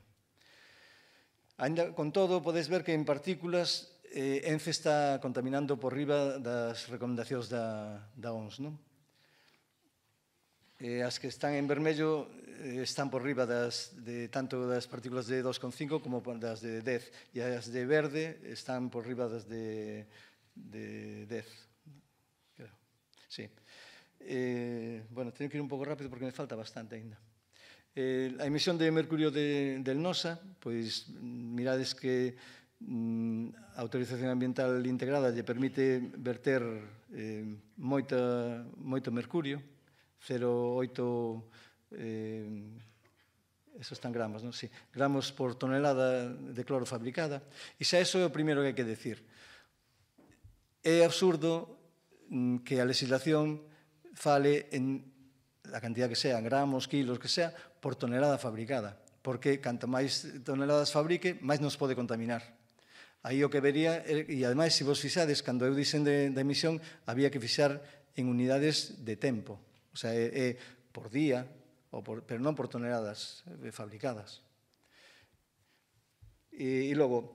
Ainda con todo, podes ver que en partículas Ence está contaminando por riba das recomendacións da OMS, non? As que están en vermello están por riba tanto das partículas de 2,5 como das de 10, e as de verde están por riba das de 10. Sí. Bueno, teño que ir un pouco rápido porque me falta bastante ainda. A emisión de mercurio del NOSA, pois mirades que a autorización ambiental integrada lle permite verter moito mercurio, 0,8 esos están gramos, non? Sí, gramos por tonelada de cloro fabricada. E xa iso é o primeiro que hai que decir. É absurdo que a legislación fale en a cantidad que sea, gramos, kilos, que sea, por tonelada fabricada, porque canto máis toneladas fabrique, máis nos pode contaminar. Aí o que vería, e ademais, se vos fixades, cando eu dixen da emisión, había que fixar en unidades de tempo, o sea, é por día, pero non por toneladas fabricadas. E logo,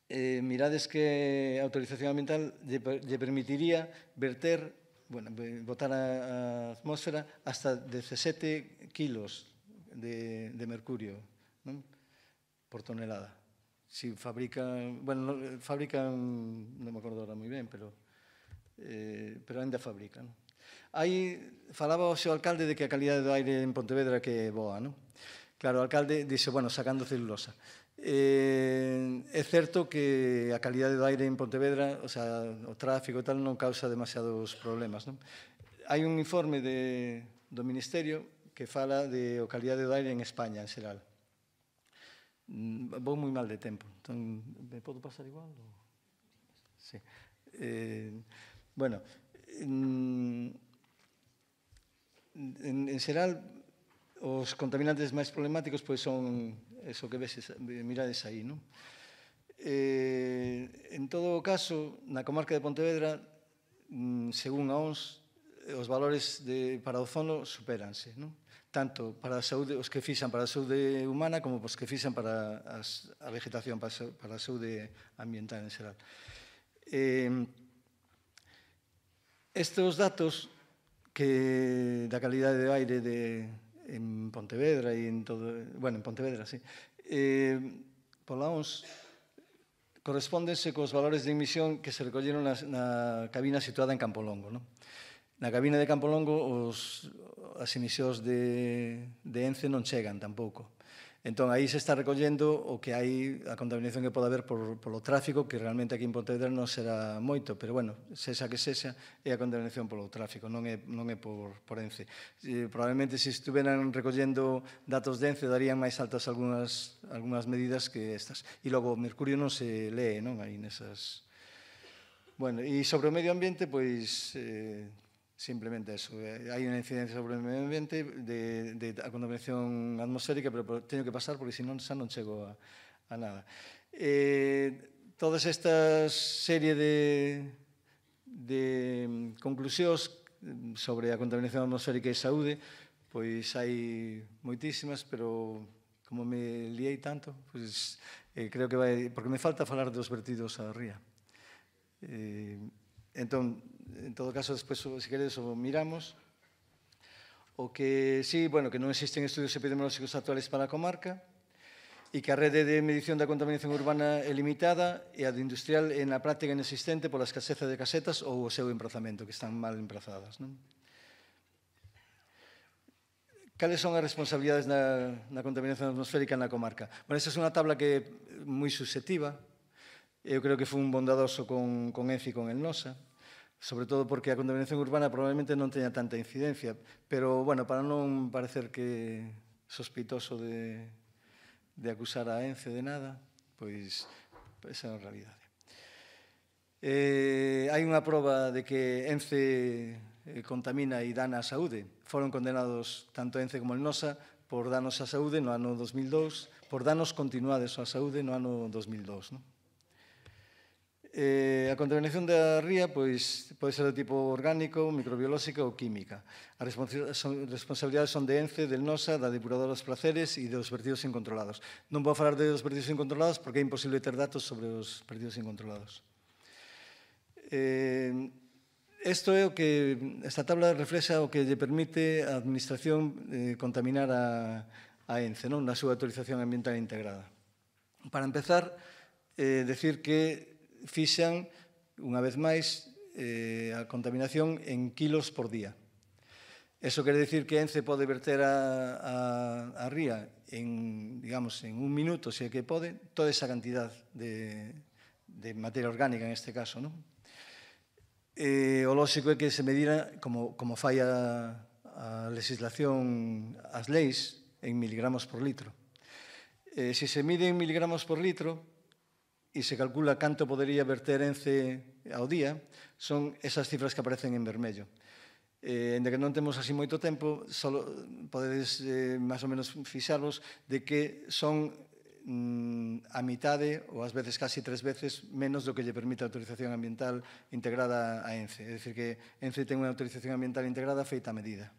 mirades que a autorización ambiental lle permitiría verter, botar a atmósfera hasta 17 kilos de mercurio, non? Por tonelada. Si fabrican, non me acordo ahora moi ben, pero ainda fabrican. Aí falaba o seu alcalde de que a calidade do aire en Pontevedra que é boa, non? Claro, o alcalde dixe, sacando celulosa. É certo que a calidade do aire en Pontevedra, o sea, o tráfico e tal, non causa demasiados problemas, non? Hai un informe do Ministerio que fala de a calidade do aire en España, en xeral. Vou moi mal de tempo, entón, me podo pasar igual? Sí. Bueno, en xeral, os contaminantes máis problemáticos son eso que mirades aí, non? En todo caso, na comarca de Pontevedra, según a OMS, os valores para o ozono supéranse, non? Tanto para a saúde, os que fixan para a saúde humana como os que fixan para a vegetación, para a saúde ambiental en xeral. Estes datos da calidade do aire en Pontevedra e en todo, bueno, en Pontevedra, sí, pola OMS, correspóndense cos valores de emisión que se recolleron na cabina situada en Campolongo, non? Na cabina de Campolongo as emisións de ENCE non chegan tampouco. Entón, aí se está recollendo o que hai, a contaminación que pode haber polo tráfico, que realmente aquí en Pontevedra non será moito, pero, bueno, sexa que sexa, é a contaminación polo tráfico, non é por ENCE. Probablemente, se estuveran recollendo datos de ENCE, darían máis altas algunhas medidas que estas. E logo, o mercurio non se lee, non? Aí nesas... Bueno, e sobre o medio ambiente, pois... simplemente eso, hai unha incidencia sobre o medio ambiente de a contaminación atmosférica, pero teño que pasar porque senón xa non chego a nada. Todas estas serie de conclusións sobre a contaminación atmosférica e saúde, pois hai moitísimas, pero como me liei tanto, pois creo que vai, porque me falta falar dos vertidos á ría. Entón, en todo caso, despois, se queredes, o miramos. O que sí, bueno, que non existen estudios epidemiolóxicos actuales para a comarca e que a rede de medición da contaminación urbana é limitada e a de industrial é na práctica inexistente pola escaseza de casetas ou o seu emprazamento, que están mal emprazadas, non? Cales son as responsabilidades na contaminación atmosférica na comarca? Bueno, esta é unha tabla que é moi subjetiva. Eu creo que foi un bondadoso con ENCE e con el NOSA, sobre todo porque a contaminación urbana probablemente non teña tanta incidencia, pero, bueno, para non parecer que sospeitoso de acusar a ENCE de nada, pois esa é a realidade. Hai unha proba de que ENCE contamina e dana a saúde. Foron condenados tanto ENCE como el NOSA por danos á saúde no ano 2002, por danos continuados á saúde no ano 2002, non? A contaminación da ría pois, pode ser de tipo orgánico, microbiolóxica ou química. As responsabilidades son de ENCE, del NOSA, da depuradora dos placeres e dos vertidos incontrolados. Non vou falar dos vertidos incontrolados porque é imposible ter datos sobre os vertidos incontrolados. Esta tabla reflexa o que lle permite a Administración contaminar a ENCE, non? Na súa autorización ambiental integrada. Para empezar, decir que fixan, unha vez máis, a contaminación en kilos por día. Eso quere dicir que ENCE pode verter a ría en, digamos, en un minuto, se é que pode, toda esa cantidad de materia orgánica, en este caso, non? O lóxico é que se medira, como fai a legislación, as leis, en miligramos por litro. Se se mide en miligramos por litro, e se calcula canto podería verter ENCE ao día, son esas cifras que aparecen en vermello. En que non temos así moito tempo, podedes máis ou menos fixarvos de que son a mitade, ou ás veces casi 3 veces, menos do que lle permite a autorización ambiental integrada a ENCE. É dicir, que ENCE ten unha autorización ambiental integrada feita a medida.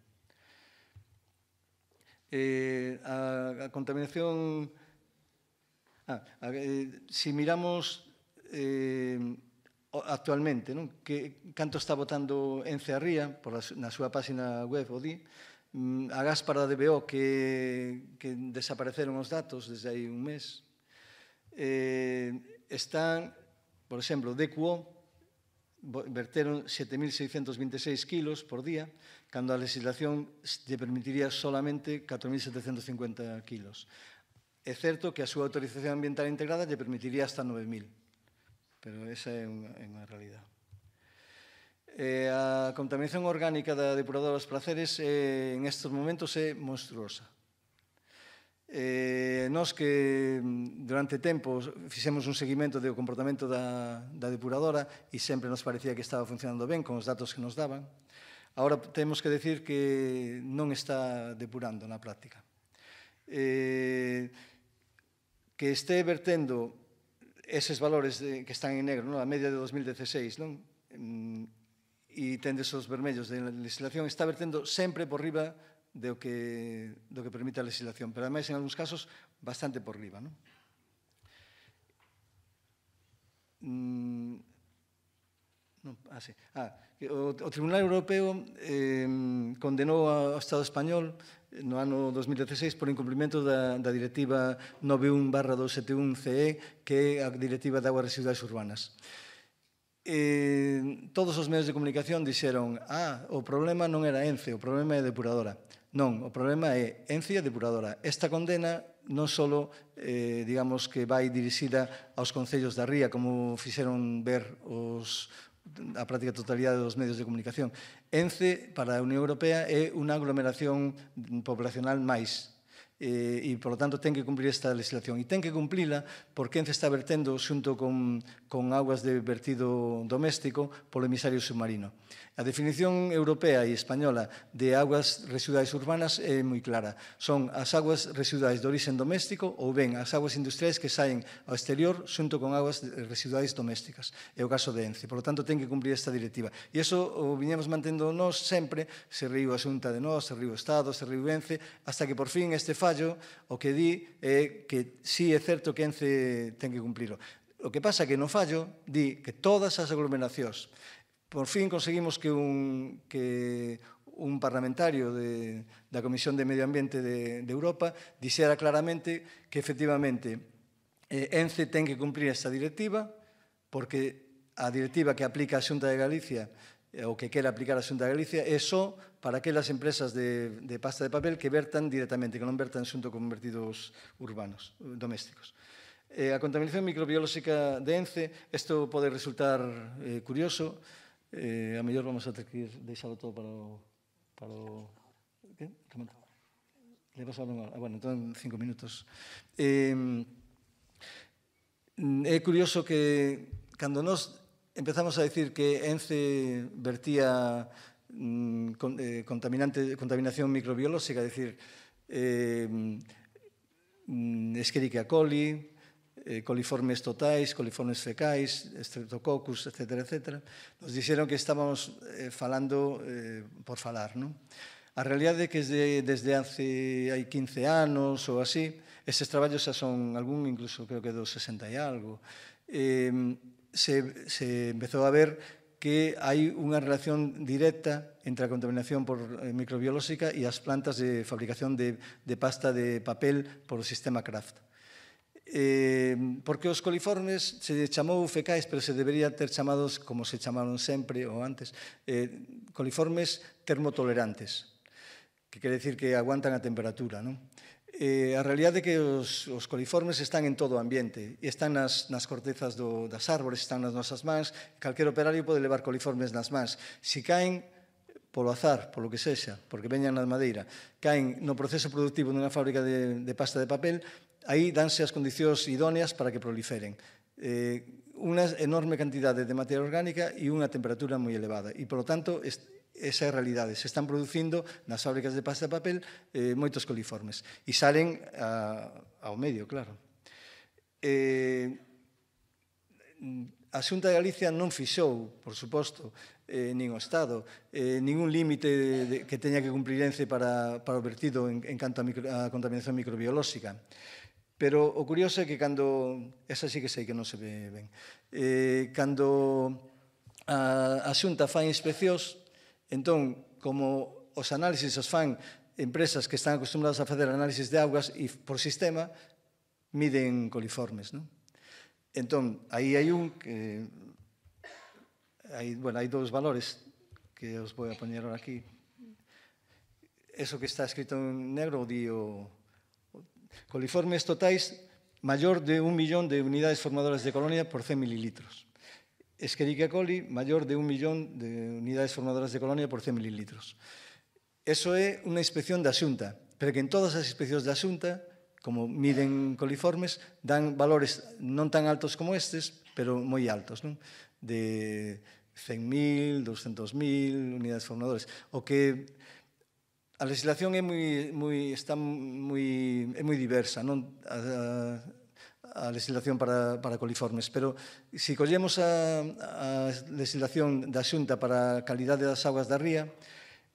A contaminación... Si miramos actualmente, canto está botando ENCE a ría, na súa página web, o di, a Gáspara de BO, que desapareceron os datos desde hai un mes, están, por exemplo, DQO, verteron 7.626 kilos por día, cando a legislación lle permitiría solamente 4.750 kilos. É certo que a súa autorización ambiental integrada lle permitiría hasta 9.000, pero esa é unha realidade. A contaminación orgánica da depuradora dos placeres en estes momentos é monstruosa. Nós que durante tempo fixemos un seguimento do comportamento da depuradora e sempre nos parecía que estaba funcionando ben con os datos que nos daban, agora temos que decir que non está depurando na práctica. Que este vertendo eses valores que están en negro, a media de 2016, e tendes os vermellos de legislación, está vertendo sempre por riba do que permite a legislación, pero ademais en algúns casos bastante por riba. O Tribunal Europeo condenou ao Estado español no ano 2016 por incumprimento da Directiva 91/271/CE, que é a Directiva de Aguas Residuais Urbanas. Todos os medios de comunicación dixeron o problema non era Ence, o problema é a depuradora. Non, o problema é Ence e a depuradora. Esta condena non só, digamos, que vai dirixida aos concellos da ría, como fixeron ver a práctica totalidade dos medios de comunicación. Ence, para a Unión Europea, é unha aglomeración poblacional máis, e, por lo tanto, ten que cumplir esta legislación. E ten que cumplila porque Ence está vertendo xunto con aguas de vertido doméstico polo emisario submarino. A definición europea e española de aguas residuais urbanas é moi clara. Son as aguas residuais de orixen doméstico ou ben as aguas industriais que saen ao exterior xunto con aguas residuais domésticas. É o caso de Ence. Por lo tanto, ten que cumplir esta directiva. E iso o viñemos mantendo nós sempre, se riu a Xunta de nós, se riu o Estado, se riu Ence, hasta que por fin este fallo o que di é que sí é certo que Ence ten que cumplilo. O que pasa é que no fallo di que todas as aglomeracións, por fin conseguimos que un parlamentario da Comisión de Medio Ambiente de Europa dixera claramente que efectivamente Ence ten que cumprir esta directiva porque a directiva que aplica a Xunta de Galicia o que quere aplicar a Xunta de Galicia é só para aquelas empresas de pasta de papel que vertan directamente, que non vertan xunto con vertidos urbanos, domésticos. A contaminación microbiolóxica de Ence, isto pode resultar curioso, a mellor vamos a ter que deixalo todo para o... Que? Le pasaron unha hora. Bueno, entón 5 minutos. É curioso que cando nós empezamos a decir que Ence vertía contaminación microbiolóxica, é dicir, Escherichia coli, coliformes totais, coliformes fecais, Streptococcus, etc. Nos dixeron que estábamos falando por falar, non? A realidade é que desde hai 15 anos ou así, estes traballos xa son algún, incluso creo que dos 60 e algo, se empezou a ver que hai unha relación directa entre a contaminación microbiolóxica e as plantas de fabricación de pasta de papel por o sistema Kraft. Porque os coliformes se chamou fecais, pero se debería ter chamados, como se chamaron sempre ou antes, coliformes termotolerantes, que quere dicir que aguantan a temperatura, non? A realidade é que os coliformes están en todo o ambiente e están nas cortezas das árbores, están nas nosas mans. Calquer operario pode levar coliformes nas mans. Si caen polo azar, polo que sexa, porque veñan na madeira, caen no proceso productivo nunha fábrica de pasta de papel, aí danse as condicións idóneas para que proliferen. Unha enorme cantidade de materia orgánica e unha temperatura moi elevada. E, polo tanto, esa é a realidade. Se están producindo nas fábricas de pasta de papel moitos coliformes. E salen ao medio, claro. A Xunta de Galicia non fixou, por suposto, nin o Estado, ningún límite que teña que cumprir Ence para o vertido en canto a contaminación microbiolóxica. Pero o curioso é que cando... Esa sí que sei que non se ve ben. Cando a Xunta fai inspeccións, entón, como os análisis os fan empresas que están acostumbradas a facer análisis de augas e por sistema miden coliformes, non? Entón, aí hai un que... Hai dous valores que os vou a poñer ahora aquí. Eso que está escrito en negro o di o... Coliformes totais maior de 1 millón de unidades formadoras de colonia por 100 mililitros. Escherichia coli maior de 1 millón de unidades formadoras de colonia por 100 mililitros. Eso é unha inspección da Xunta, pero que en todas as inspeccións da Xunta, como miden coliformes, dan valores non tan altos como estes, pero moi altos, non? De 100.000, 200.000 unidades formadoras. O que... A legislación é moi diversa, non? A legislación para coliformes, pero se collemos a legislación da Xunta para a calidade das augas da ría,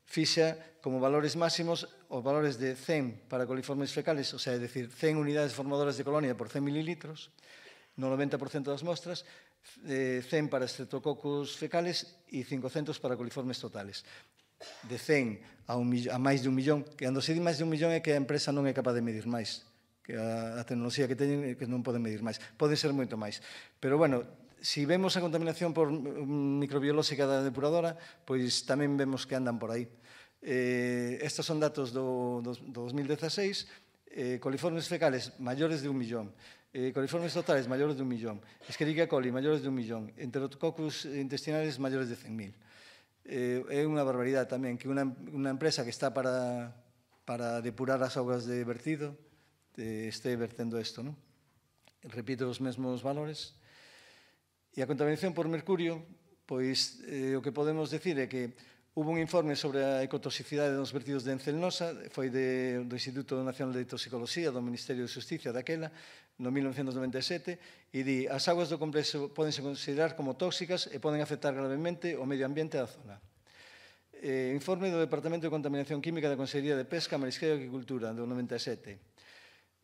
fixa como valores máximos os valores de 100 para coliformes fecales, o sea, é dicir, 100 unidades formadoras de colonia por 100 mililitros, no 90% das mostras, 100 para estreptococos fecales e 500 para coliformes totales. De 100 a máis de 1 millón, que cando se di máis de 1 millón é que a empresa non é capaz de medir máis, que a tecnoloxía que teñen é que non poden medir máis. Pode ser moito máis. Pero, bueno, se vemos a contaminación por microbiolóxica da depuradora, pois tamén vemos que andan por aí. Estes son datos do 2016, coliformes fecales maiores de 1 millón, coliformes totales maiores de 1 millón, Escherichia coli maiores de 1 millón, Enterococcus intestinales maiores de 100.000. É unha barbaridade tamén que unha empresa que está para depurar as augas de vertido este vertendo isto, non? Repito os mesmos valores. E a contaminación por mercurio, pois o que podemos decir é que hubo un informe sobre a ecotoxicidade dos vertidos de Encelnosa, foi do Instituto Nacional de Toxicoloxía, do Ministerio de Justicia daquela, no 1997, e di, as augas do complexo podense considerar como tóxicas e poden afectar gravemente o medio ambiente da zona. Informe do Departamento de Contaminación Química da Consellería de Pesca, Marisqueo e Agricultura, do 97.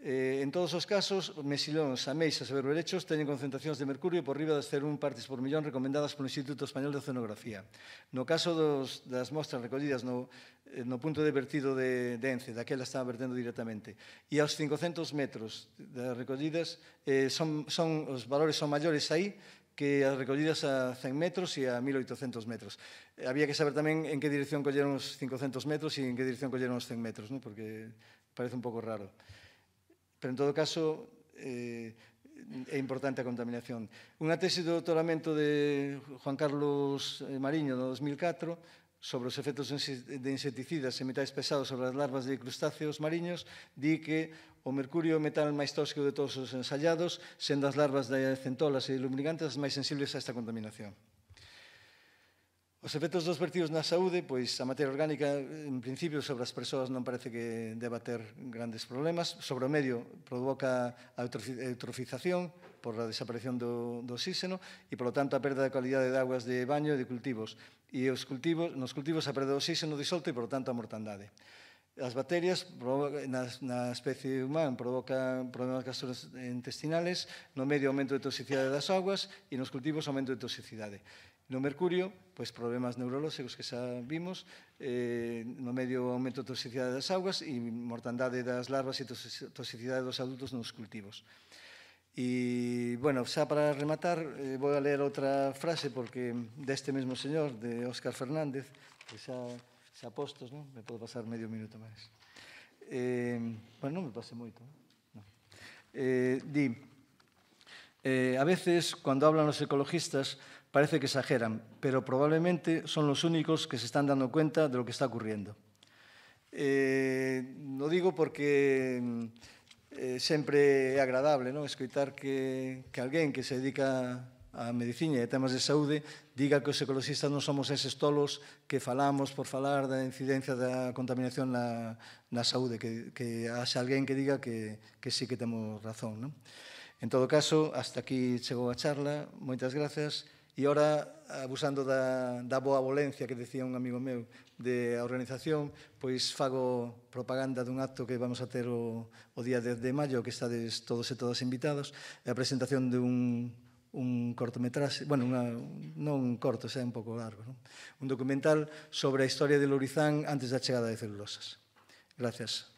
En todos os casos, mexilóns, ameixas e berberechos teñen concentracións de mercurio por riba das 0,1 partes por millón recomendadas polo Instituto Español de Oceanografía. No caso das mostras recollidas no punto de vertido de Ence, daquela estaba vertendo directamente, e aos 500 metros das recollidas, os valores son maiores aí que as recollidas a 100 metros e a 1.800 metros. Había que saber tamén en que dirección colleron os 500 metros e en que dirección colleron os 100 metros, porque parece un pouco raro. Pero, en todo caso, é importante a contaminación. Unha tese de doutoramento de Juan Carlos Mariño, no 2004, sobre os efectos de insecticidas e metais pesados sobre as larvas de crustáceos mariños, di que o mercurio é o metal máis tóxico de todos os ensallados, sendo as larvas de centolas e lubricantes as máis sensibles a esta contaminación. Os efectos dos vertidos na saúde, pois a materia orgánica, en principio, sobre as persoas non parece que deba ter grandes problemas. Sobre o medio, provoca a eutrofización por a desaparición do oxígeno e, polo tanto, a perda de calidade de aguas de baño e de cultivos. E nos cultivos a perda de oxígeno disolto e, polo tanto, a mortandade. As bacterias na especie humana provocan problemas gastrointestinales, no medio aumento de toxicidade das augas e nos cultivos aumento de toxicidade. No mercurio, pois problemas neurolóxicos que xa vimos, no medio aumento de toxicidade das augas e mortandade das larvas e toxicidade dos adultos nos cultivos. E, bueno, xa para rematar, vou a ler outra frase porque deste mesmo señor, de Óscar Fernández, que xa postos, non? Me podo pasar medio minuto máis. Bueno, non me pase moito. Di, a veces, cando hablan os ecologistas, parece que exageran, pero probablemente son los únicos que se están dando cuenta de lo que está ocurriendo. Lo digo porque sempre é agradable, non? Escoitar que alguén que se dedica a medicina e a temas de saúde diga que os ecologistas non somos eses tolos que falamos por falar da incidencia da contaminación na saúde, que haxa alguén que diga que sí que temos razón, non? En todo caso, hasta aquí chegou a charla. Moitas grazas. E ora, abusando da boa volencia que decía un amigo meu de a organización, pois fago propaganda dun acto que vamos a ter o día 10 de maio, que estades todos e todas invitados, a presentación de un cortometraxe, bueno, non un corto, xa é un pouco largo, non? Un documental sobre a historia de Lourizán antes da chegada de Celulosas. Gracias.